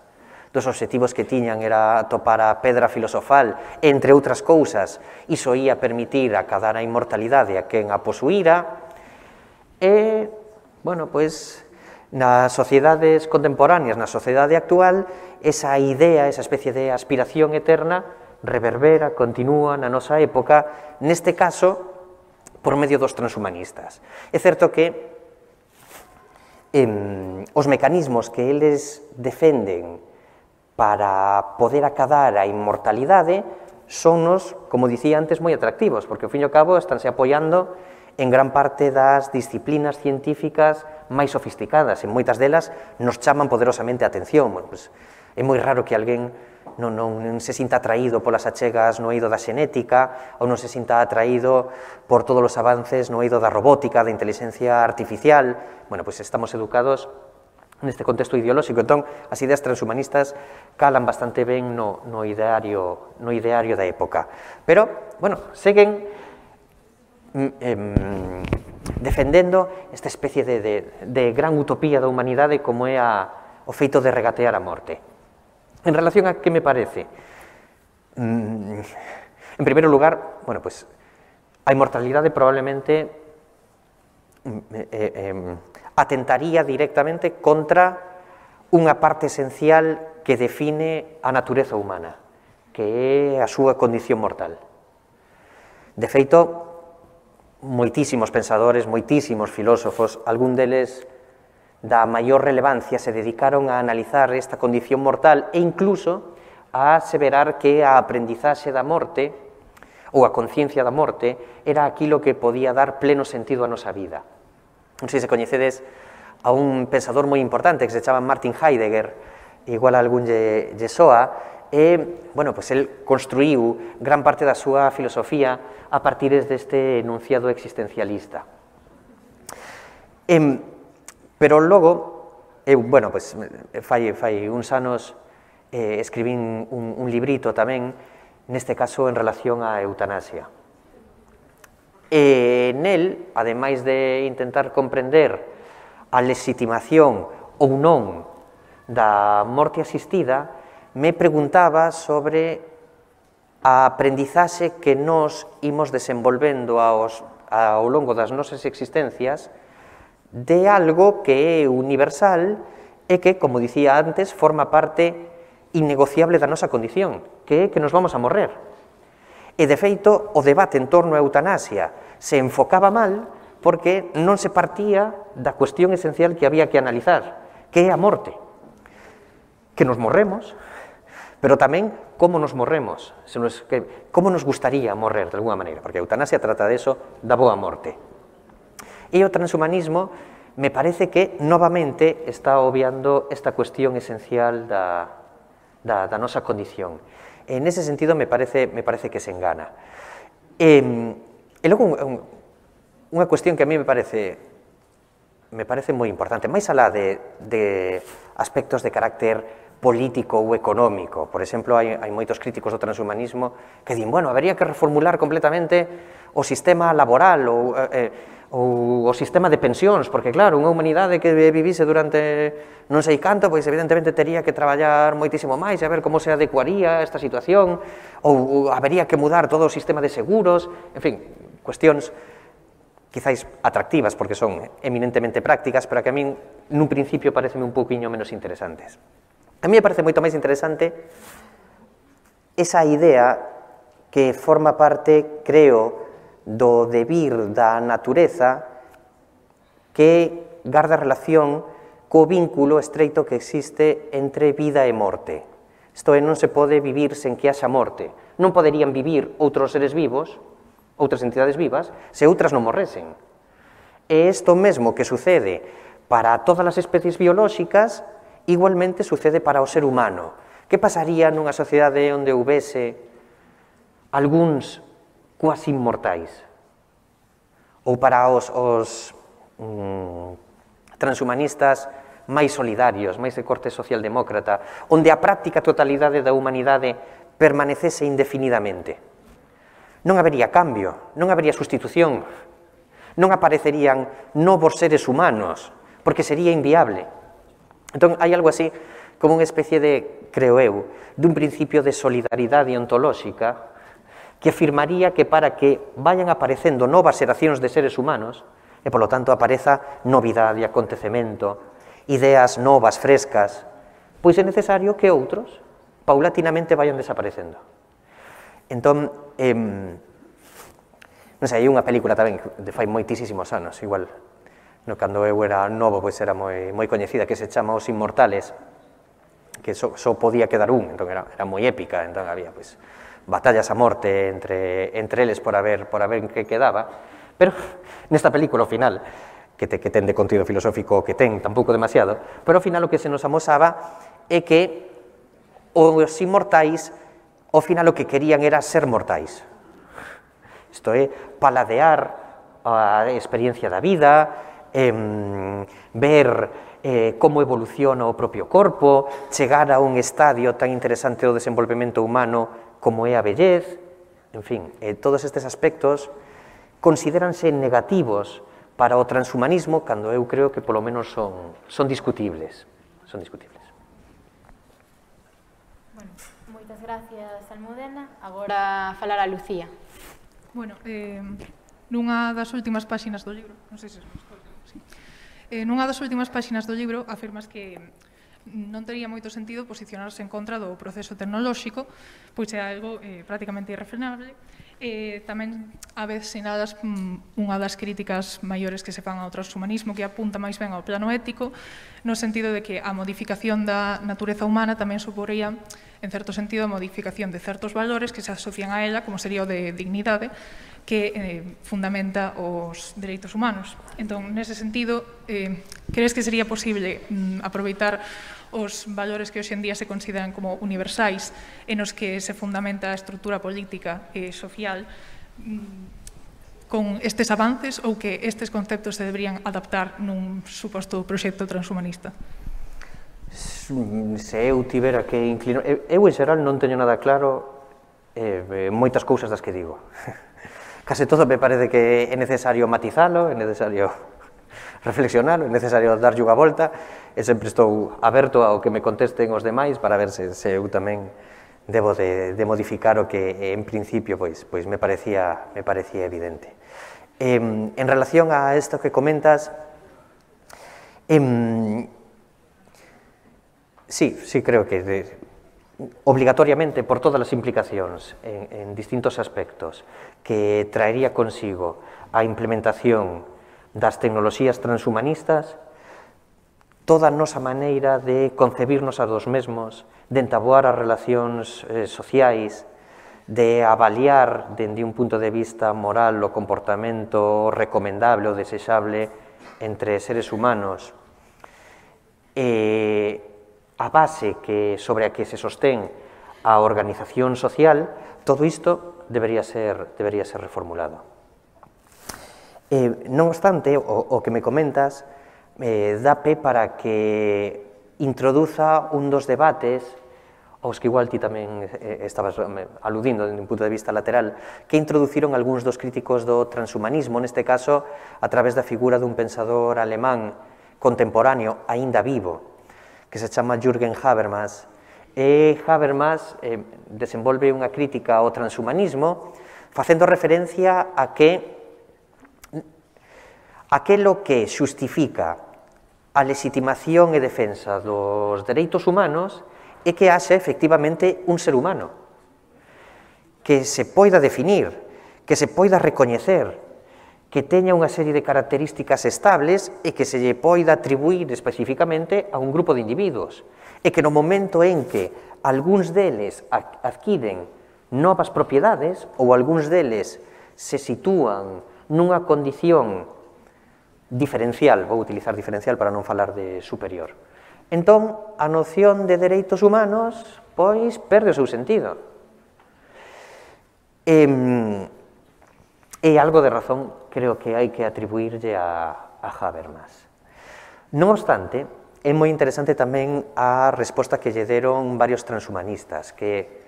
dos obxectivos que tiñan era atopar a pedra filosofal, entre outras cousas, iso ia permitir acadar a inmortalidade a quen a posuíra, e, bueno, pois, nas sociedades contemporáneas, na sociedade actual, esa idea, esa especie de aspiración eterna, reverbera, continúa na nosa época, neste caso, por medio dos transhumanistas. É certo que eh, os mecanismos que eles defenden para poder acadar a inmortalidade sonnos, como dicía antes, moi atractivos, porque, ao fin e ao cabo, estánse apoiando en gran parte das disciplinas científicas máis sofisticadas, e moitas delas nos chaman poderosamente a atención. Bueno, pues, é moi raro que alguén non, non, non se sinta atraído polas achegas no eido da xenética ou non se sinta atraído por todos os avances no eido da robótica, da inteligencia artificial. Bueno, pues estamos educados neste contexto ideolóxico, entón as ideas transhumanistas calan bastante ben no, no, ideario, no ideario da época. Pero, bueno, seguen eh, defendendo esta especie de, de, de gran utopía da humanidade como é a, o feito de regatear a morte. En relación a que me parece? En primeiro lugar, bueno, pues, a inmortalidade probablemente eh, eh, atentaría directamente contra unha parte esencial que define a natureza humana, que é a súa condición mortal. De feito, moitísimos pensadores, moitísimos filósofos, algún deles da maior relevancia, se dedicaron a analizar esta condición mortal e incluso a aseverar que a aprendizaxe da morte ou a conciencia da morte era aquilo que podía dar pleno sentido á nosa vida. Non sei se coñecedes a un pensador moi importante que se chama Martin Heidegger, igual a algún lle, lle soa, e, bueno, pues, el construíu gran parte da súa filosofía a partir deste enunciado existencialista. E, pero logo, eu, bueno, pues, fai, fai uns anos eh, escribín un, un librito tamén, neste caso en relación á eutanasia. E nel, ademais de intentar comprender a legitimación ou non da morte asistida, me preguntaba sobre a aprendizaxe que nós imos desenvolvendo aos, ao longo das nosas existencias de algo que é universal e que, como dicía antes, forma parte innegociable da nosa condición, que é que nos vamos a morrer. E, de feito, o debate en torno á eutanasia se enfocaba mal porque non se partía da cuestión esencial que había que analizar, que é a morte. Que nos morremos, pero tamén como nos morremos, se nos, que, como nos gustaría morrer, de alguna maneira, porque a eutanasia trata de eso, da boa morte. E o transhumanismo me parece que novamente está obviando esta cuestión esencial da, da, da nosa condición. En ese sentido, me parece, me parece que se engana. E, e logo, un, un, unha cuestión que a mí me parece, me parece moi importante, máis alá de, de aspectos de carácter político ou económico. Por exemplo, hai, hai moitos críticos do transhumanismo que din, bueno, habería que reformular completamente o sistema laboral ou, eh, ou o sistema de pensións, porque, claro, unha humanidade que vivise durante non sei canto, pois evidentemente tería que traballar moitísimo máis e a ver como se adecuaría a esta situación, ou, ou habería que mudar todo o sistema de seguros, en fin, cuestións quizáis atractivas, porque son eminentemente prácticas, pero que a min, nun principio, parecen un pouquiño menos interesantes. A mí me parece moito máis interesante esa idea que forma parte, creo, do debir da natureza que garda relación co vínculo estreito que existe entre vida e morte. Isto é, non se pode vivir sen que haxa morte. Non poderían vivir outros seres vivos, outras entidades vivas, se outras non morresen. E isto mesmo que sucede para todas as especies biolóxicas, igualmente sucede para o ser humano. Que pasaría nunha sociedade onde houvese algúns cuasi inmortais? Ou para os, os mm, transhumanistas máis solidarios, máis de corte socialdemócrata, onde a práctica totalidade da humanidade permanecese indefinidamente. Non habería cambio, non habería sustitución, non aparecerían novos seres humanos, porque sería inviable. Entón, hai algo así como unha especie de, creo eu, dun principio de solidaridade ontolóxica que afirmaría que para que vayan aparecendo novas xeracións de seres humanos e, polo tanto, apareza novidade, acontecemento, ideas novas, frescas, pois é necesario que outros paulatinamente vayan desaparecendo. Entón, eh, non sei, hai unha película tamén de fai moitísimos anos, igual, no, cando eu era novo, pois era moi, moi coñecida, que se chama Os Inmortales, que só, só podía quedar un, entón era, era moi épica, entón había, pois, batallas a morte entre, entre eles por a ver, por a ver en que quedaba, pero nesta película, ao final, que, te, que ten de contido filosófico que ten, tampouco demasiado, pero ao final o que se nos amosaba é que os inmortais, ao final o que querían era ser mortais. Isto é, paladear a experiencia da vida, eh, ver eh, como evoluciona o propio corpo, chegar a un estadio tan interesante do desenvolvemento humano como é a vellez, en fin, eh, todos estes aspectos considéranse negativos para o transhumanismo cando eu creo que polo menos son, son discutibles. Son discutibles. Bueno, moitas gracias, Almudena. Agora falar a Lucía. Bueno, eh, nunha das últimas páxinas do libro, non sei se estou, sí. eh, nunha das últimas páxinas do libro afirmas que non tería moito sentido posicionarse en contra do proceso tecnolóxico, pois é algo eh, prácticamente irrefrenable. Eh, tamén a vez sinalas mm, unha das críticas maiores que se fan ao transhumanismo, que apunta máis ben ao plano ético, no sentido de que a modificación da natureza humana tamén suporía, en certo sentido, a modificación de certos valores que se asocian a ela, como sería o de dignidade, que eh, fundamenta os dereitos humanos. Entón, nese sentido, eh, crees que sería posible mm, aproveitar os valores que hoxe en día se consideran como universais e nos que se fundamenta a estrutura política e social mm, con estes avances ou que estes conceptos se deberían adaptar nun suposto proxecto transhumanista? Se eu tivera que inclinar... Eu, en xeral, non teño nada claro eh, moitas cousas das que digo. Case todo me parece que é necesario matizalo, é necesario reflexionalo, é necesario darlle unha volta, e sempre estou aberto ao que me contesten os demais para ver se, se eu tamén debo de, de modificar o que en principio pois, pois me, parecía, me parecía evidente. Eh, en relación a isto que comentas, eh, sí, sí creo que de, obligatoriamente, por todas as implicacións en, en distintos aspectos que traería consigo a implementación das tecnoloxías transhumanistas, toda a nosa maneira de concebirnos a dos mesmos, de entaboar as relacións eh, sociais, de avaliar dende un punto de vista moral o comportamento recomendable ou desexable entre seres humanos, e a base que, sobre a que se sostén a organización social, todo isto debería ser, debería ser reformulado. Eh, non obstante, o, o que me comentas eh, dá pé para que introduza un dos debates aos que igual ti tamén eh, estabas aludindo dende un punto de vista lateral, que introduciron algúns dos críticos do transhumanismo, neste caso a través da figura dun pensador alemán contemporáneo, aínda vivo, que se chama Jürgen Habermas. E Habermas eh, desenvolve unha crítica ao transhumanismo facendo referencia a que aquelo que xustifica a legitimación e defensa dos dereitos humanos é que haxa efectivamente un ser humano, que se poida definir, que se poida recoñecer, que teña unha serie de características estables e que se lle poida atribuir especificamente a un grupo de individuos, e que no momento en que algúns deles adquiren novas propiedades ou algúns deles se sitúan nunha condición diferencial, vou utilizar diferencial para non falar de superior. Entón, a noción de dereitos humanos, pois, perde o seu sentido. E, e algo de razón creo que hai que atribuirlle a, a Habermas. Non obstante, é moi interesante tamén a resposta que lle deron varios transhumanistas, que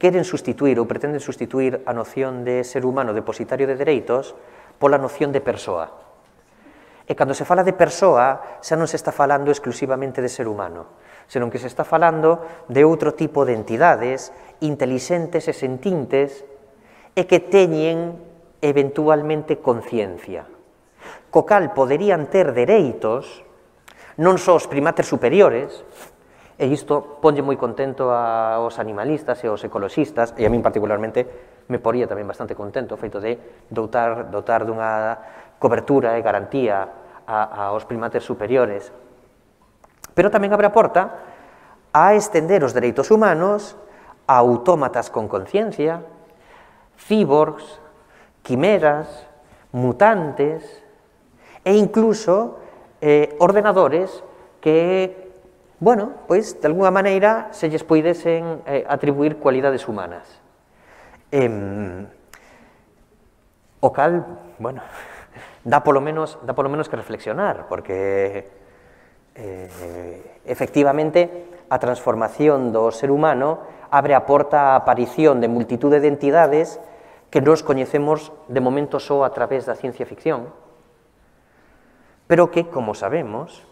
queren sustituir ou pretenden sustituir a noción de ser humano depositario de dereitos pola noción de persoa. E cando se fala de persoa, xa non se está falando exclusivamente de ser humano, senón que se está falando de outro tipo de entidades intelixentes e sentintes e que teñen eventualmente conciencia. Co cal poderían ter dereitos non só os primates superiores, e isto ponlle moi contento aos animalistas e aos ecoloxistas, e a min particularmente me poría tamén bastante contento o feito de dotar, dotar dunha cobertura e garantía a, aos primates superiores. Pero tamén abre a porta a estender os dereitos humanos a autómatas con conciencia, cíborgs, quimeras, mutantes e incluso eh, ordenadores que, bueno, pois, de alguna maneira se lles poidesen eh, atribuir cualidades humanas. Eh, o cal, bueno, dá polo menos, dá polo menos que reflexionar, porque eh, efectivamente a transformación do ser humano abre a porta á aparición de multitude de entidades que nos coñecemos de momento só a través da ciencia ficción, pero que, como sabemos,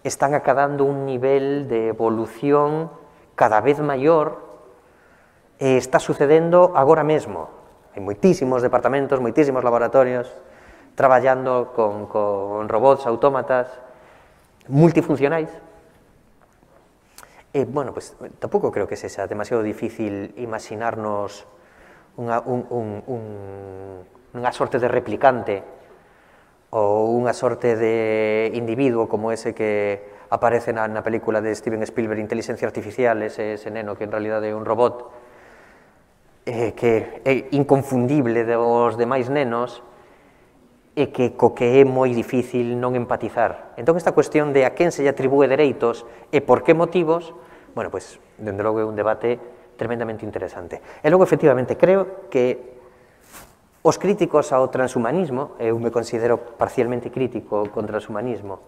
están acadando un nivel de evolución cada vez maior e está sucedendo agora mesmo. Hai moitísimos departamentos, moitísimos laboratorios traballando con, con robots, autómatas, multifuncionais. E, bueno, pues, tampouco creo que sexa demasiado difícil imaginarnos unha, un, un, un, unha sorte de replicante ou unha sorte de individuo como ese que aparece na, na película de Steven Spielberg, Inteligencia Artificial, ese, ese neno que en realidade é un robot, eh, que é inconfundible dos demais nenos e que co que é moi difícil non empatizar. Entón, esta cuestión de a quen se lle atribúe dereitos e por que motivos, bueno, pois, dende logo é un debate tremendamente interesante. E logo, efectivamente, creo que os críticos ao transhumanismo, eu me considero parcialmente crítico con transhumanismo,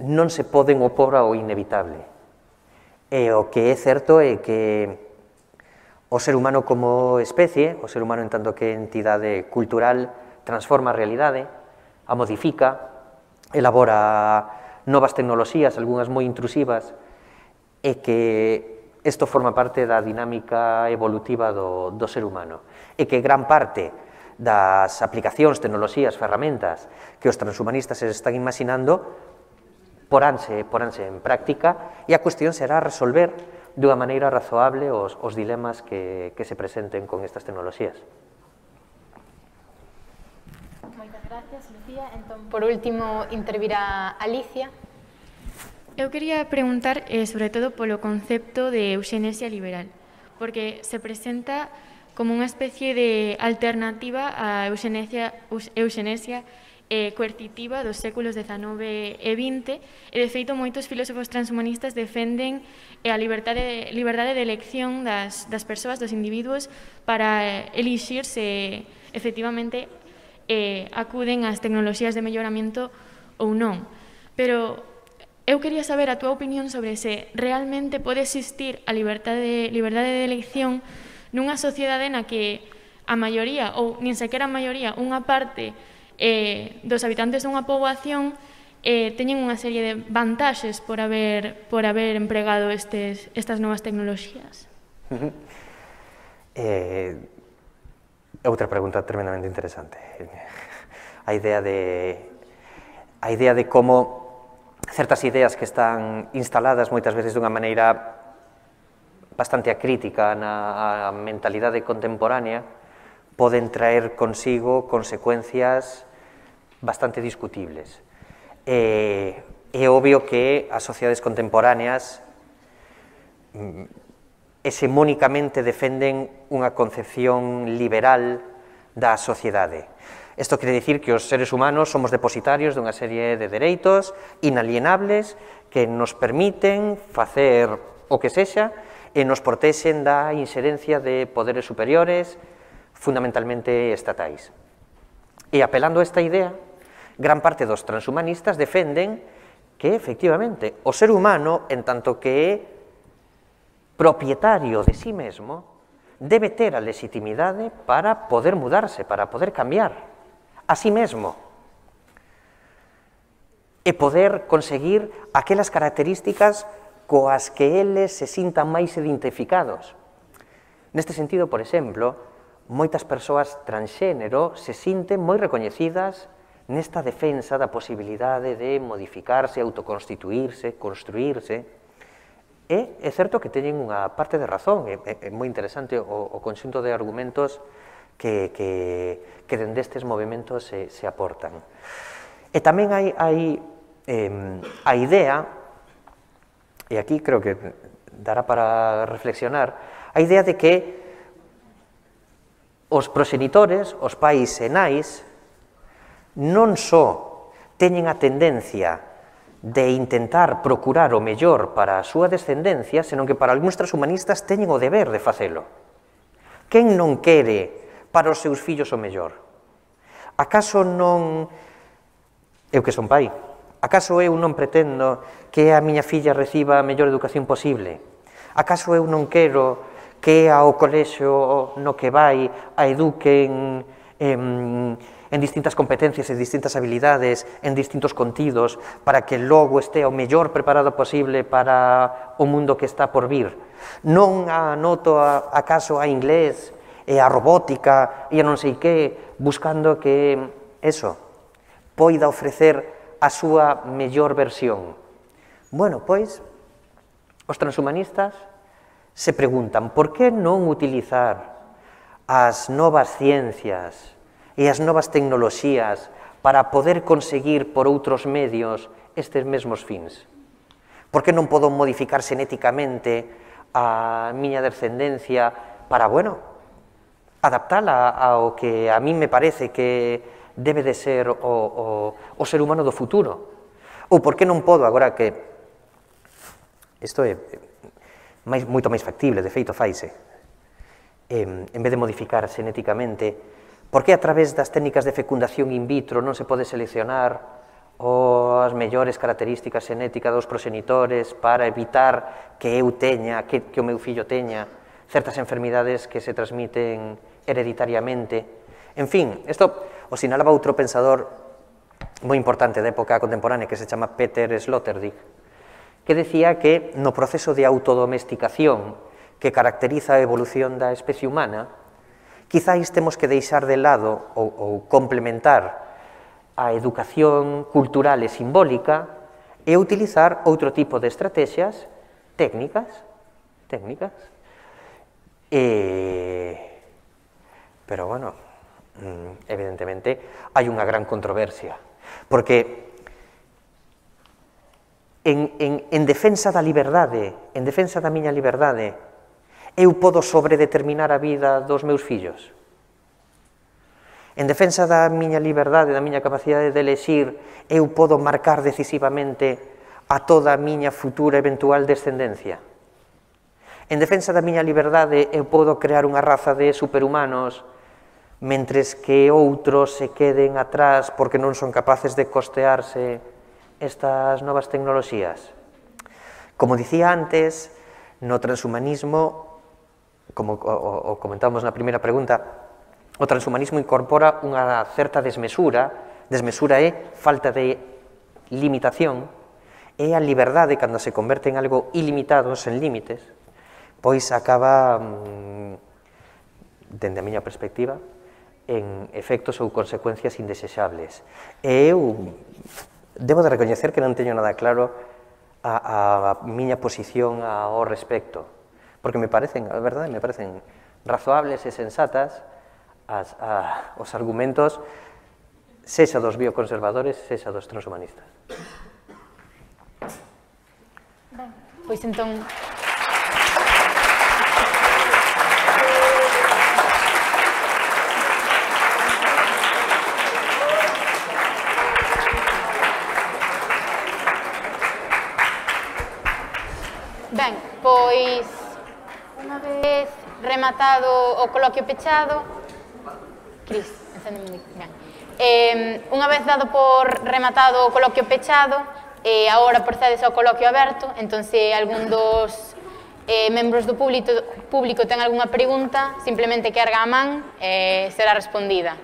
non se poden opor ao inevitable. E o que é certo é que o ser humano como especie, o ser humano en tanto que entidade cultural, transforma a realidade, a modifica, elabora novas tecnoloxías, algunhas moi intrusivas, e que isto forma parte da dinámica evolutiva do, do ser humano. E que gran parte das aplicacións, tecnoloxías, ferramentas que os transhumanistas se están imaginando poránse, poránse en práctica, e a cuestión será resolver dunha maneira razoable os, os dilemas que, que se presenten con estas tecnoloxías. Moitas gracias, Lucía. Entón, por último, intervirá Alicia. Eu quería preguntar, eh, sobre todo, polo concepto de euxenesia liberal, porque se presenta como unha especie de alternativa á euxenesia, euxenesia eh, coercitiva dos séculos dezanove e vinte, e, de feito, moitos filósofos transhumanistas defenden eh, a liberdade, liberdade de elección das, das persoas, dos individuos, para elixir se, efectivamente, eh, acuden ás tecnoloxías de melloramento ou non. Pero eu quería saber a túa opinión sobre se realmente pode existir a liberdade, liberdade de elección nunha sociedade na que a maioría, ou nin sequera a maioría, unha parte eh, dos habitantes dunha poboación eh, teñen unha serie de vantaxes por haber, por haber empregado estes, estas novas tecnoloxías. Uh-huh. eh, outra pregunta tremendamente interesante. A idea de, a idea de como certas ideas que están instaladas moitas veces dunha maneira bastante acrítica na mentalidade contemporánea poden traer consigo consecuencias bastante discutibles. É, é obvio que as sociedades contemporáneas hexemónicamente defenden unha concepción liberal da sociedade. Isto quere dicir que os seres humanos somos depositarios dunha serie de dereitos inalienables que nos permiten facer o que sexa e nos protexen da inxerencia de poderes superiores, fundamentalmente estatais. E apelando a esta idea, gran parte dos transhumanistas defenden que, efectivamente, o ser humano, en tanto que é propietario de sí mesmo, debe ter a legitimidade para poder mudarse, para poder cambiar a sí mesmo e poder conseguir aquelas características coas que eles se sintan máis identificados. Neste sentido, por exemplo, moitas persoas transxénero se sinten moi recoñecidas nesta defensa da posibilidade de modificarse, autoconstituirse, construirse. E é certo que teñen unha parte de razón, é, é moi interesante o, o conxunto de argumentos que, que, que dende estes movimentos se, se aportan. E tamén hai, hai eh, a idea, e aquí creo que dará para reflexionar, a idea de que os proxenitores, os pais e nais, non só teñen a tendencia de intentar procurar o mellor para a súa descendencia, senón que para algúns transhumanistas teñen o deber de facelo. Quen non quere para os seus fillos o mellor? Acaso non... Eu que son pai, acaso eu non pretendo que a miña filla reciba a mellor educación posible? Acaso eu non quero que ao colexio no que vai a eduquen en, en distintas competencias e distintas habilidades, en distintos contidos, para que logo este o mellor preparado posible para o mundo que está por vir? Non anoto a, acaso a inglés e a robótica e a non sei que, buscando que, eso, poida ofrecer a súa mellor versión? Bueno, pois, os transhumanistas se preguntan por que non utilizar as novas ciencias e as novas tecnoloxías para poder conseguir por outros medios estes mesmos fins? Por que non podo modificar xenéticamente a miña descendencia para, bueno, adaptala ao que a mí me parece que debe de ser o, o, o ser humano do futuro? Ou por que non podo, agora que isto é máis, moito máis factible, de feito faise, eh, en vez de modificar xenéticamente, por que a través das técnicas de fecundación in vitro non se pode seleccionar as mellores características xenéticas dos proxenitores para evitar que eu teña, que, que o meu fillo teña certas enfermidades que se transmiten hereditariamente? En fin, isto o sinalaba outro pensador moi importante da época contemporánea que se chama Peter Sloterdijk, que decía que no proceso de autodomesticación que caracteriza a evolución da especie humana, quizáis temos que deixar de lado ou, ou complementar a educación cultural e simbólica e utilizar outro tipo de estrategias técnicas, técnicas, e... pero, bueno, evidentemente, hai unha gran controversia, porque En, en, en defensa da liberdade, en defensa da miña liberdade, eu podo sobredeterminar a vida dos meus fillos? En defensa da miña liberdade, da miña capacidade de elexir, eu podo marcar decisivamente a toda a miña futura eventual descendencia? En defensa da miña liberdade, eu podo crear unha raza de superhumanos mentres que outros se queden atrás porque non son capaces de costearse estas novas tecnoloxías? Como dicía antes, no transhumanismo, como o, o comentábamos na primeira pregunta, o transhumanismo incorpora unha certa desmesura, desmesura é falta de limitación, e a liberdade, cando se converte en algo ilimitado, sen límites, pois acaba, dende a miña perspectiva, en efectos ou consecuencias indesexables. E eu debo de recoñecer que non teño nada claro a, a miña posición ao respecto, porque me parecen, a verdade, me parecen razoables e sensatas as, a, os argumentos, sexa dos bioconservadores, sexa dos transhumanistas. Ben, pois entón... Ben, pois, unha vez rematado o coloquio pechado... Cris, encéndeme o micro. Ben. Eh, unha vez dado por rematado o coloquio pechado, eh, agora procedes ao coloquio aberto, entón se algún dos eh, membros do público, público ten algunha pregunta, simplemente que erga a man e eh, será respondida.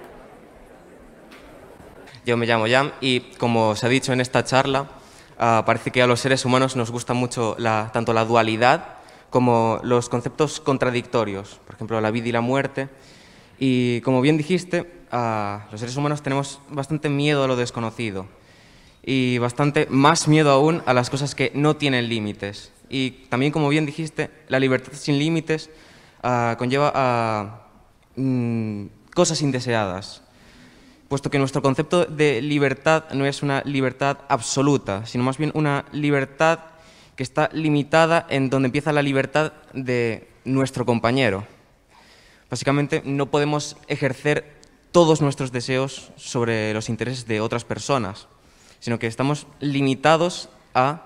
Yo me llamo Jan y, como se ha dicho en esta charla, uh, parece que a los seres humanos nos gusta mucho la, tanto la dualidad como los conceptos contradictorios, por ejemplo, la vida y la muerte. Y, como bien dijiste, uh, los seres humanos tenemos bastante miedo a lo desconocido y bastante más miedo aún a las cosas que no tienen límites. Y también, como bien dijiste, la libertad sin límites uh, conlleva a mm, cosas indeseadas, puesto que nuestro concepto de libertad no es una libertad absoluta, sino más bien una libertad que está limitada en donde empieza la libertad de nuestro compañero. Básicamente, no podemos ejercer todos nuestros deseos sobre los intereses de otras personas, sino que estamos limitados a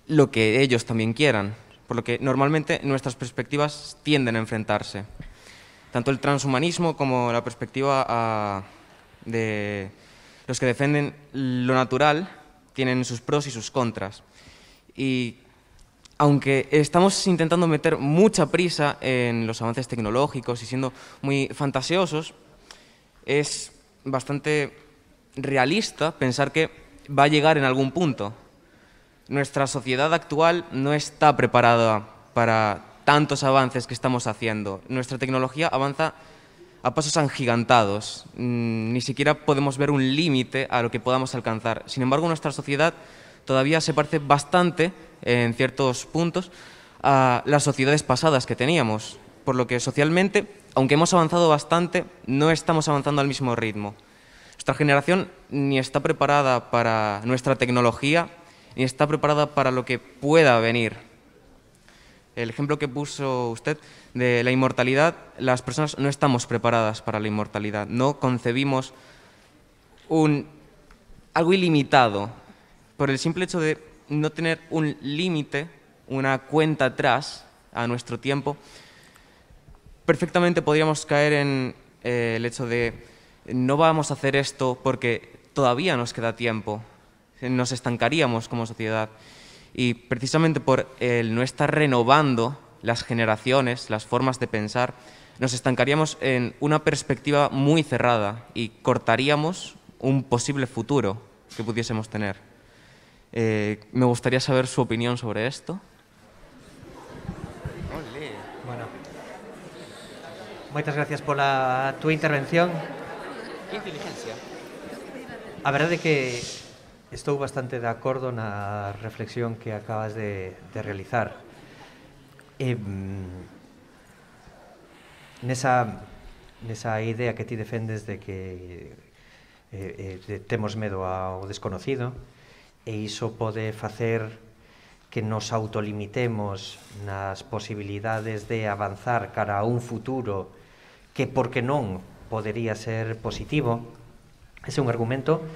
lo que ellos también quieran, por lo que normalmente nuestras perspectivas tienden a enfrentarse. Tanto el transhumanismo como la perspectiva a de los que defienden lo natural tienen sus pros y sus contras. Y aunque estamos intentando meter mucha prisa en los avances tecnológicos y siendo muy fantasiosos, es bastante realista pensar que va a llegar en algún punto. Nuestra sociedad actual no está preparada para tantos avances que estamos haciendo. Nuestra tecnología avanza a pasos agigantados, ni siquiera podemos ver un límite a lo que podamos alcanzar. Sin embargo, nuestra sociedad todavía se parece bastante, en ciertos puntos, a las sociedades pasadas que teníamos, por lo que socialmente, aunque hemos avanzado bastante, no estamos avanzando al mismo ritmo. Nuestra generación ni está preparada para nuestra tecnología, ni está preparada para lo que pueda venir. El ejemplo que puso usted de la inmortalidad, las personas no estamos preparadas para la inmortalidad, no concebimos un, algo ilimitado. Por el simple hecho de no tener un límite, una cuenta atrás a nuestro tiempo, perfectamente podríamos caer en eh, el hecho de no vamos a hacer esto porque todavía nos queda tiempo, nos estancaríamos como sociedad. Y precisamente por el no estar renovando las generaciones, las formas de pensar, nos estancaríamos en una perspectiva muy cerrada y cortaríamos un posible futuro que pudiésemos tener. Eh, me gustaría saber su opinión sobre esto. Olé. Bueno, moitas gracias pola túa intervención. Que inteligencia. A verdade é que estou bastante de acordo na reflexión que acabas de, de realizar. E, nesa, nesa idea que ti defendes de que eh, eh, temos medo ao desconocido, e iso pode facer que nos autolimitemos nas posibilidades de avanzar cara a un futuro que, por que non, podería ser positivo. Ese é un argumento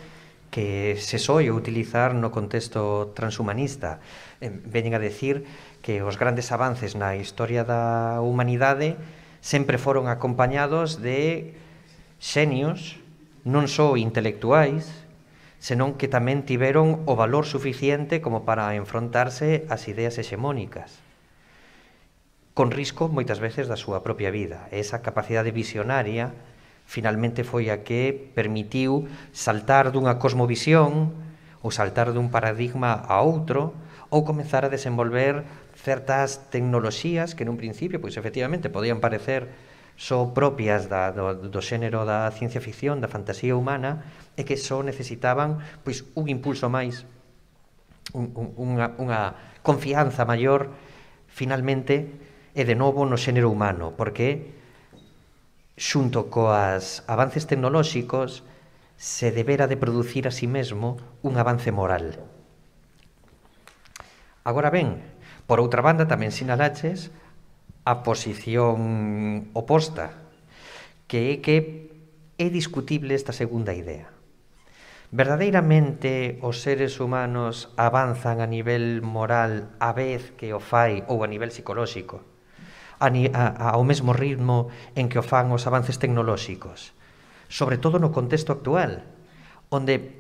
que se soe utilizar no contexto transhumanista. Veñen a decir que os grandes avances na historia da humanidade sempre foron acompañados de xenios, non só intelectuais, senón que tamén tiveron o valor suficiente como para enfrontarse ás ideas hexemónicas, con risco moitas veces da súa propia vida. Esa capacidade visionaria finalmente foi a que permitiu saltar dunha cosmovisión ou saltar dun paradigma a outro ou comezar a desenvolver certas tecnoloxías que nun principio, pois efectivamente, podían parecer só propias da, do, do xénero da ciencia ficción, da fantasía humana, e que só necesitaban pois un impulso máis, un, un, unha, unha confianza maior, finalmente, e de novo no xénero humano, porque xunto coas avances tecnolóxicos se debera de producir a sí mesmo un avance moral. Agora ben, por outra banda tamén sinalaches a posición oposta, que é que é discutible esta segunda idea. Verdadeiramente os seres humanos avanzan a nivel moral a vez que o fai ou a nivel psicolóxico, A, a, ao mesmo ritmo en que o fan os avances tecnolóxicos, sobre todo no contexto actual, onde,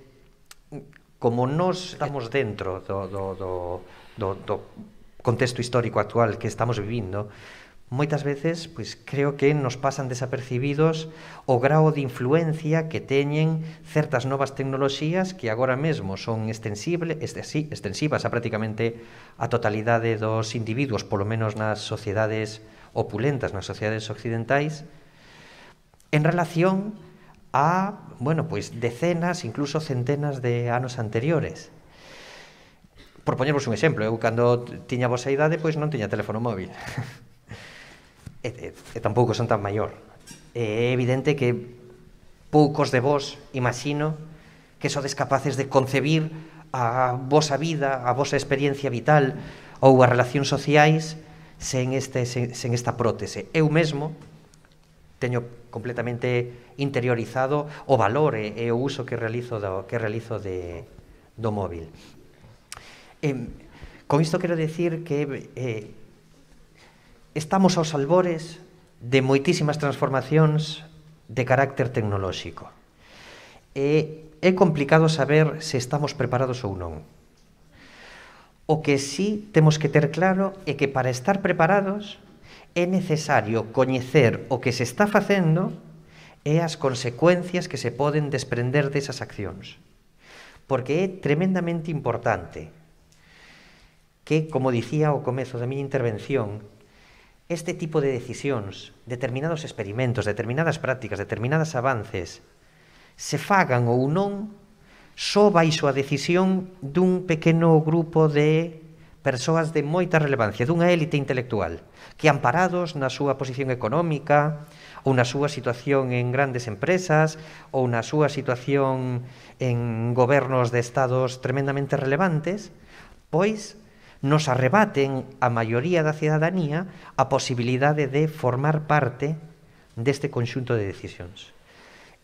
como nós estamos dentro do, do, do, do, do contexto histórico actual que estamos vivindo, moitas veces pois, creo que nos pasan desapercibidos o grao de influencia que teñen certas novas tecnoloxías que agora mesmo son extensibles, extensivas a prácticamente a totalidade dos individuos, polo menos nas sociedades opulentas, nas sociedades occidentais, en relación a, bueno, pois decenas, incluso centenas de anos anteriores. Por poñervos un exemplo, eu cando tiña a vosa idade, pois non tiña teléfono móvil. E, e, e tampouco son tan maior. É evidente que poucos de vos, imagino, que sodes capaces de concebir a vosa vida, a vosa experiencia vital ou as relacións sociais sen, este, sen, sen esta prótese. Eu mesmo teño completamente interiorizado o valor e, e o uso que realizo do, que realizo de, do móvil. Eh, con isto quero decir que eh, estamos aos albores de moitísimas transformacións de carácter tecnolóxico. E é complicado saber se estamos preparados ou non. O que sí temos que ter claro é que para estar preparados é necesario coñecer o que se está facendo e as consecuencias que se poden desprender desas accións. Porque é tremendamente importante que, como dicía ao comezo da miña intervención, este tipo de decisións, determinados experimentos, determinadas prácticas, determinados avances, se fagan ou non só baixo a decisión dun pequeno grupo de persoas de moita relevancia, dunha élite intelectual, que amparados na súa posición económica, ou na súa situación en grandes empresas, ou na súa situación en gobernos de estados tremendamente relevantes, pois nos arrebaten a maioría da cidadanía a posibilidade de formar parte deste conxunto de decisións.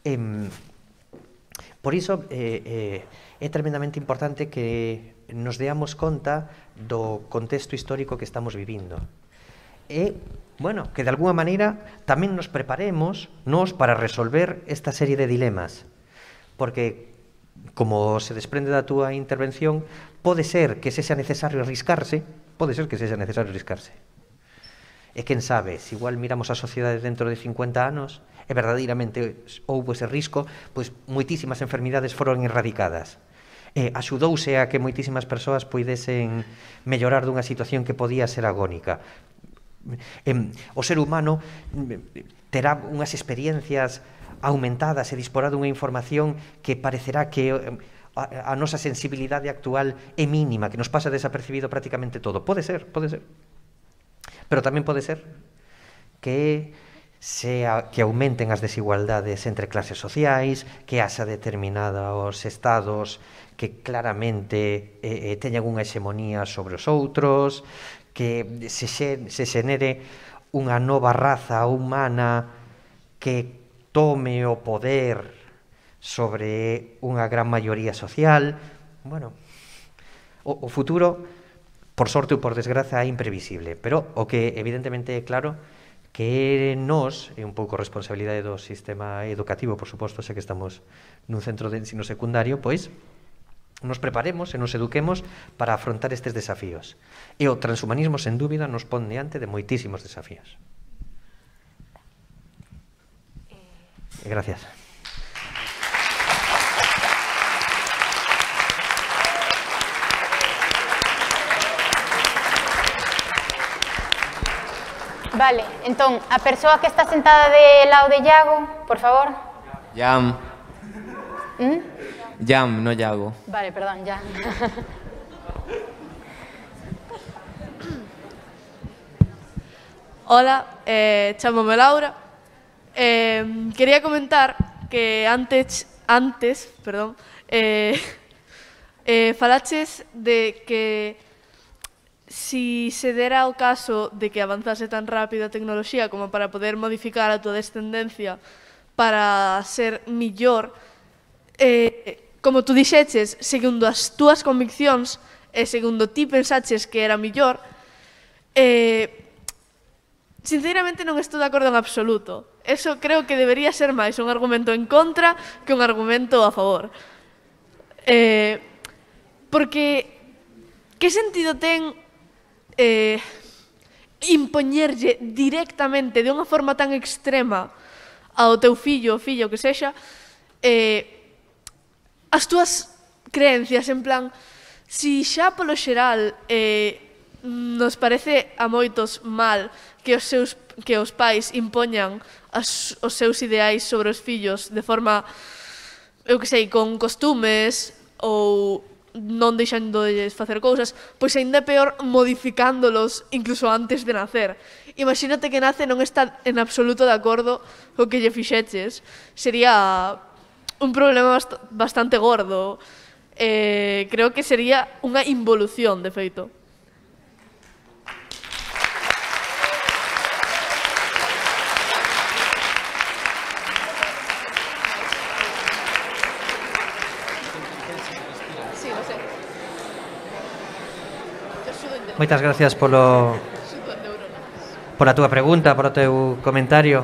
Eh, por iso, eh, eh, é tremendamente importante que nos deamos conta do contexto histórico que estamos vivindo. E, bueno, que de alguna maneira tamén nos preparemos nos para resolver esta serie de dilemas. Porque, como se desprende da túa intervención, pode ser que sexa necesario arriscarse, pode ser que sexa necesario arriscarse. E quen sabe, se igual miramos a sociedade dentro de cincuenta anos e verdadeiramente houve ese risco, pois moitísimas enfermidades foron erradicadas. E axudouse a que moitísimas persoas poidesen mellorar dunha situación que podía ser agónica. O ser humano terá unhas experiencias aumentadas e disporá dunha información que parecerá que a, a nosa sensibilidade actual é mínima, que nos pasa desapercibido prácticamente todo. Pode ser, pode ser. Pero tamén pode ser que sea que aumenten as desigualdades entre clases sociais, que haxa determinados estados que claramente eh, teñan unha hexemonía sobre os outros, que se, se xenere unha nova raza humana que tome o poder sobre unha gran maioría social. Bueno, o, o futuro, por sorte ou por desgraza, é imprevisible, pero o que evidentemente é claro que nós, é un pouco responsabilidade do sistema educativo, por suposto, sei que estamos nun centro de ensino secundario, pois nos preparemos e nos eduquemos para afrontar estes desafíos. E o transhumanismo, sen dúbida, nos pon diante de moitísimos desafíos. E gracias. Vale, entón, a persoa que está sentada de lado de Iago, por favor. Jam. ¿Mm? Jam, no Iago. Vale, perdón, ya. Hola, eh, chámome Laura. Eh, quería comentar que antes, antes, perdón, eh, eh, falaches de que si se dera o caso de que avanzase tan rápido a tecnoloxía como para poder modificar a túa descendencia para ser millor, eh, como tú dixeches, segundo as túas conviccións e segundo ti pensaches que era millor, eh, sinceramente non estou de acordo en absoluto. Eso creo que debería ser máis un argumento en contra que un argumento a favor. Eh, porque que sentido ten eh, impoñerlle directamente de unha forma tan extrema ao teu fillo ou fillo que sexa eh, as túas creencias, en plan, si xa polo xeral eh, nos parece a moitos mal que os seus que os pais impoñan as, os seus ideais sobre os fillos de forma, eu que sei, con costumes ou non deixando de facer cousas, pois ainda é peor modificándolos incluso antes de nacer. Imagínate que nace e non está en absoluto de acordo co que lle fixeches. Sería un problema bast bastante gordo. Eh, creo que sería unha involución, de feito. Moitas gracias polo pola túa pregunta, polo teu comentario.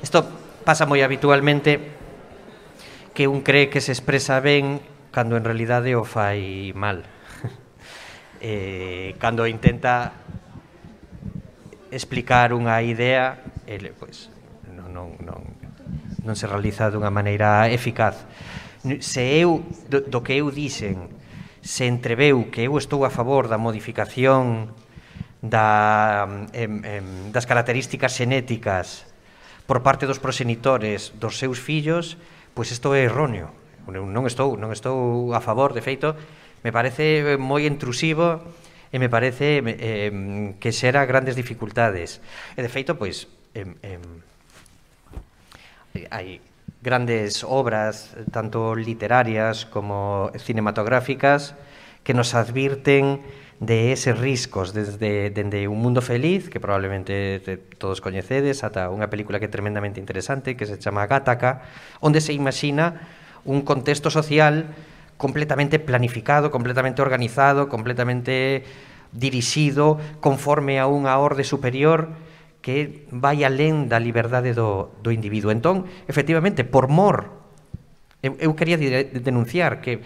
Isto pasa moi habitualmente, que un cree que se expresa ben cando en realidade o fai mal. eh, cando intenta explicar unha idea, ele, pois, non, non, non, non se realiza dunha maneira eficaz. Se eu, do, do que eu dixen, se entreveu que eu estou a favor da modificación da, em, em, das características xenéticas por parte dos proxenitores dos seus fillos, pois isto é erróneo. Non estou, non estou a favor, de feito, me parece moi intrusivo e me parece eh, que xera grandes dificultades. E de feito, pois, eh, eh, hai grandes obras, tanto literarias como cinematográficas, que nos advirten de eses riscos, desde, desde Un mundo feliz, que probablemente todos coñecedes, ata unha película que é tremendamente interesante, que se chama Gattaca, onde se imagina un contexto social completamente planificado, completamente organizado, completamente dirixido, conforme a unha orde superior que vai alén da liberdade do, do individuo. Entón, efectivamente, por mor, eu, eu quería denunciar que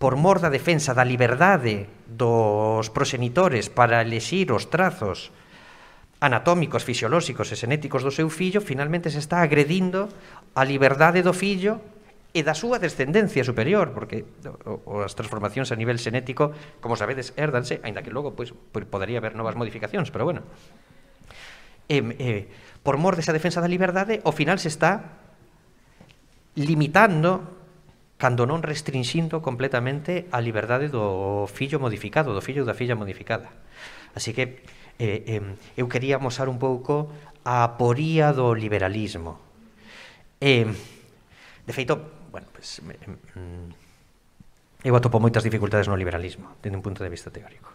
por mor da defensa da liberdade dos proxenitores para elexir os trazos anatómicos, fisiolóxicos e xenéticos do seu fillo, finalmente se está agredindo a liberdade do fillo e da súa descendencia superior, porque as transformacións a nivel xenético, como sabedes, hérdanse, aínda que logo pois, podería haber novas modificacións, pero bueno. Eh, eh, por mor desa defensa da liberdade, ao final se está limitando, cando non restringindo completamente a liberdade do fillo modificado, do fillo ou da filla modificada. Así que eh, eh, eu quería amosar un pouco a aporía do liberalismo. Eh, de feito, bueno, pues, eh, eu atopo moitas dificultades no liberalismo, dende un punto de vista teórico.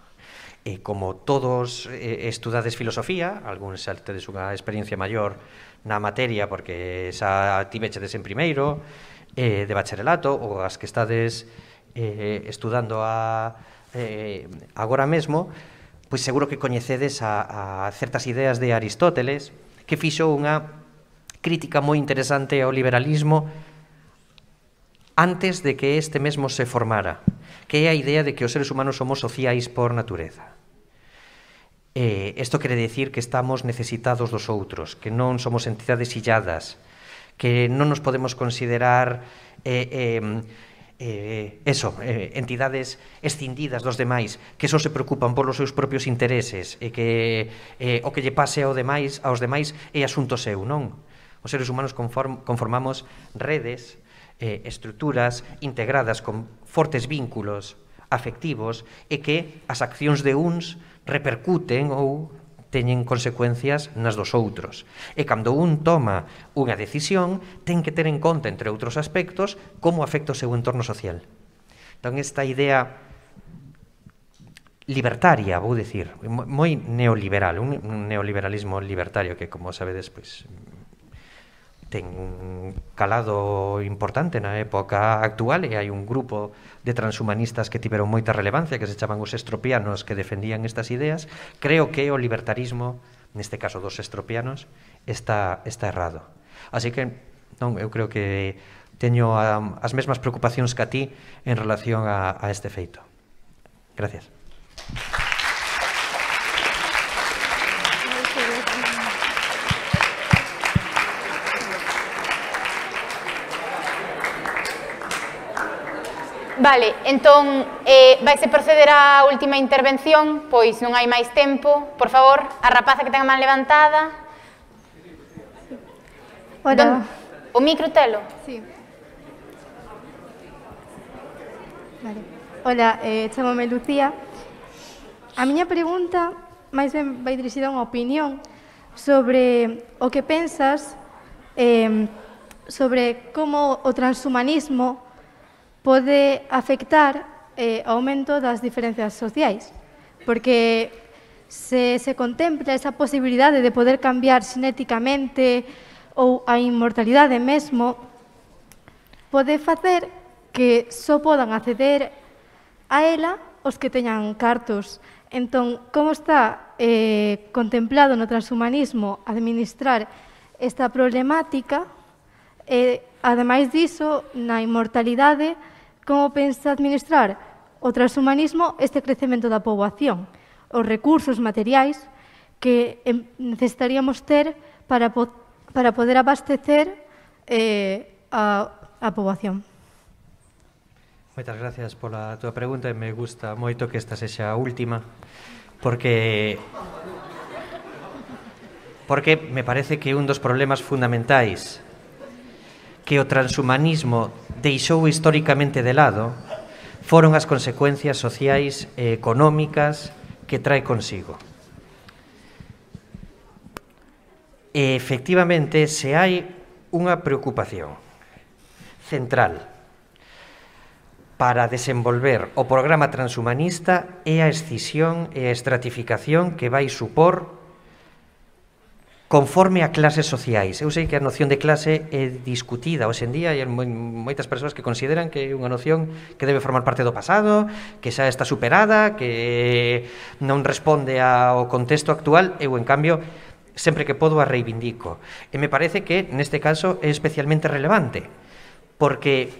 E como todos eh, estudades filosofía, algúns xa tedes unha experiencia maior na materia porque xa tivechedes en primeiro eh, de bacharelato, ou as que estades eh, estudando a, eh, agora mesmo, pois seguro que coñecedes a, a certas ideas de Aristóteles, que fixo unha crítica moi interesante ao liberalismo antes de que este mesmo se formara, que é a idea de que os seres humanos somos sociais por natureza. Eh, isto quere decir que estamos necesitados dos outros, que non somos entidades illadas, que non nos podemos considerar eh, eh, eh, eso, eh, entidades escindidas dos demais, que só se preocupan polos seus propios intereses e que eh, o que lle pase ao demais, aos demais é asunto seu, non? Os seres humanos conform, conformamos redes, eh, estruturas integradas con fortes vínculos afectivos e que as accións de uns repercuten ou teñen consecuencias nas dos outros. E cando un toma unha decisión, ten que ter en conta, entre outros aspectos, como afecta o seu entorno social. Entón, esta idea libertaria, vou dicir, moi neoliberal, un neoliberalismo libertario que, como sabedes, pois, ten un calado importante na época actual e hai un grupo de transhumanistas que tiveron moita relevancia, que se chaman os estropianos, que defendían estas ideas. Creo que o libertarismo, neste caso dos estropianos, está, está errado. Así que, non, eu creo que teño a, as mesmas preocupacións que a ti en relación a, a este feito. Gracias. Vale, entón, eh, vaise proceder á última intervención, pois non hai máis tempo. Por favor, a rapaza que ten a man levantada. Hola. O micro telo? Sí. Vale. Hola, eh, chamome Lucía. A miña pregunta máis ben vai dirixida a unha opinión sobre o que pensas eh, sobre como o transhumanismo pode afectar eh, o aumento das diferencias sociais. Porque se se contempla esa posibilidade de poder cambiar xenéticamente ou a inmortalidade mesmo, pode facer que só podan acceder a ela os que teñan cartos. Entón, como está eh, contemplado no transhumanismo administrar esta problemática, e, ademais diso, na inmortalidade, como pensa administrar o transhumanismo este crecemento da poboación, os recursos materiais que necesitaríamos ter para, po para poder abastecer eh, a, a poboación. Moitas gracias pola túa pregunta e me gusta moito que esta sexa a última porque porque me parece que un dos problemas fundamentais que o transhumanismo deixou históricamente de lado foron as consecuencias sociais e económicas que trae consigo. E, efectivamente, se hai unha preocupación central para desenvolver o programa transhumanista é a escisión e a estratificación que vai supor conforme a clases sociais. Eu sei que a noción de clase é discutida hoxe en día e hai moitas persoas que consideran que é unha noción que debe formar parte do pasado, que xa está superada, que non responde ao contexto actual. Eu, en cambio, sempre que podo a reivindico. E me parece que, neste caso, é especialmente relevante, porque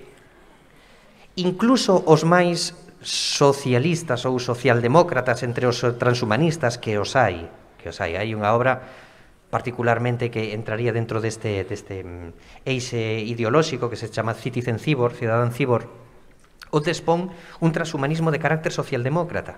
incluso os máis socialistas ou socialdemócratas entre os transhumanistas, que os hai, que os hai, hai unha obra particularmente que entraría dentro deste, deste eixe ideolóxico que se chama Citizen Cyborg, Cidadán Cyborg, onde expón un transhumanismo de carácter socialdemócrata.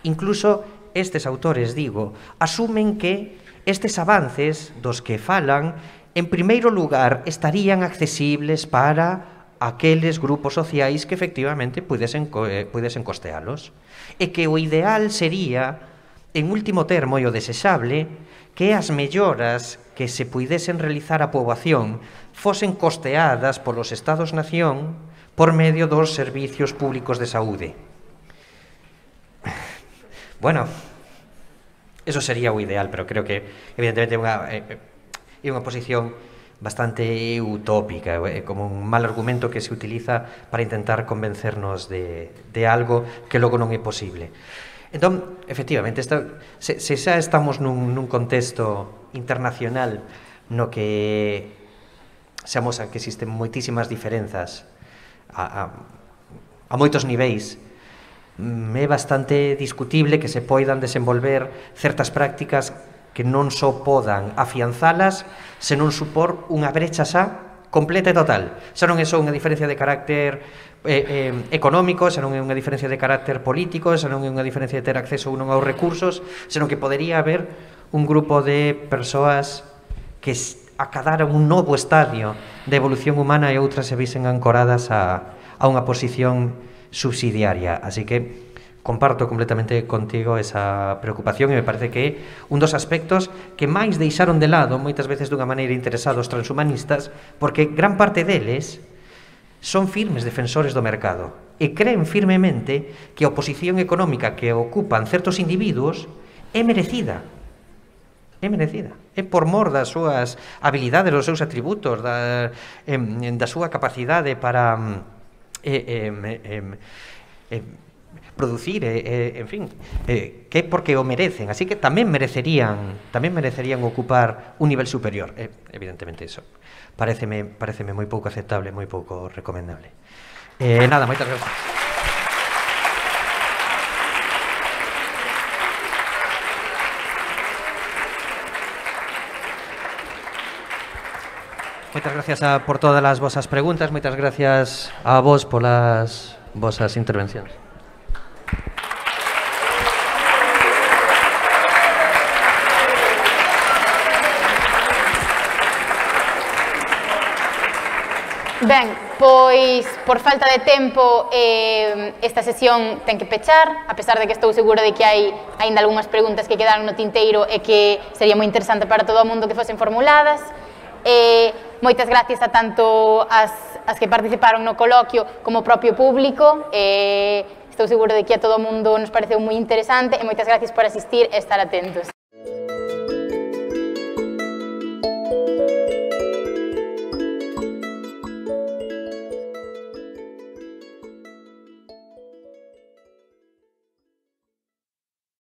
Incluso estes autores, digo, asumen que estes avances dos que falan, en primeiro lugar, estarían accesibles para aqueles grupos sociais que efectivamente pudesen, eh, pudesen costealos. E que o ideal sería, en último termo, e o desexable, que as melloras que se puidesen realizar á poboación fosen costeadas polos Estados-nación por medio dos servicios públicos de saúde. Bueno, eso sería o ideal, pero creo que, evidentemente, é unha, é unha posición bastante utópica, é como un mal argumento que se utiliza para intentar convencernos de, de algo que logo non é posible. Entón, efectivamente, esta, se, se xa estamos nun, nun contexto internacional no que xamos a que existen moitísimas diferenzas a, a, a moitos niveis, é bastante discutible que se poidan desenvolver certas prácticas que non só podan afianzalas, senón supor unha brecha xa completa e total. Xa non é só unha diferencia de carácter eh, eh, económico, xa non é unha diferencia de carácter político, xa non é unha diferencia de ter acceso ou non aos recursos, senón que podería haber un grupo de persoas que acadaran un novo estadio de evolución humana e outras se visen ancoradas a, a unha posición subsidiaria. Así que comparto completamente contigo esa preocupación e me parece que é un dos aspectos que máis deixaron de lado moitas veces dunha maneira interesados transhumanistas, porque gran parte deles son firmes defensores do mercado e creen firmemente que a oposición económica que ocupan certos individuos é merecida. É merecida. É por mor das súas habilidades, dos seus atributos, da, eh, da súa capacidade para eh, eh, eh, eh, producir, eh, en fin, eh, que é porque o merecen, así que tamén merecerían, tamén merecerían ocupar un nivel superior. Eh, evidentemente iso pareceme, pareceme moi pouco aceptable, moi pouco recomendable. Eh, nada, moitas gracias. Moitas gracias a, por todas as vosas preguntas, moitas gracias a vos polas vosas intervencións. Ben, pois, por falta de tempo, eh, esta sesión ten que pechar, a pesar de que estou segura de que hai aínda algunhas preguntas que quedaron no tinteiro e que sería moi interesante para todo o mundo que fosen formuladas. Eh, moitas gracias a tanto as, as que participaron no coloquio como o propio público. Eh, estou segura de que a todo o mundo nos pareceu moi interesante e moitas gracias por asistir e estar atentos.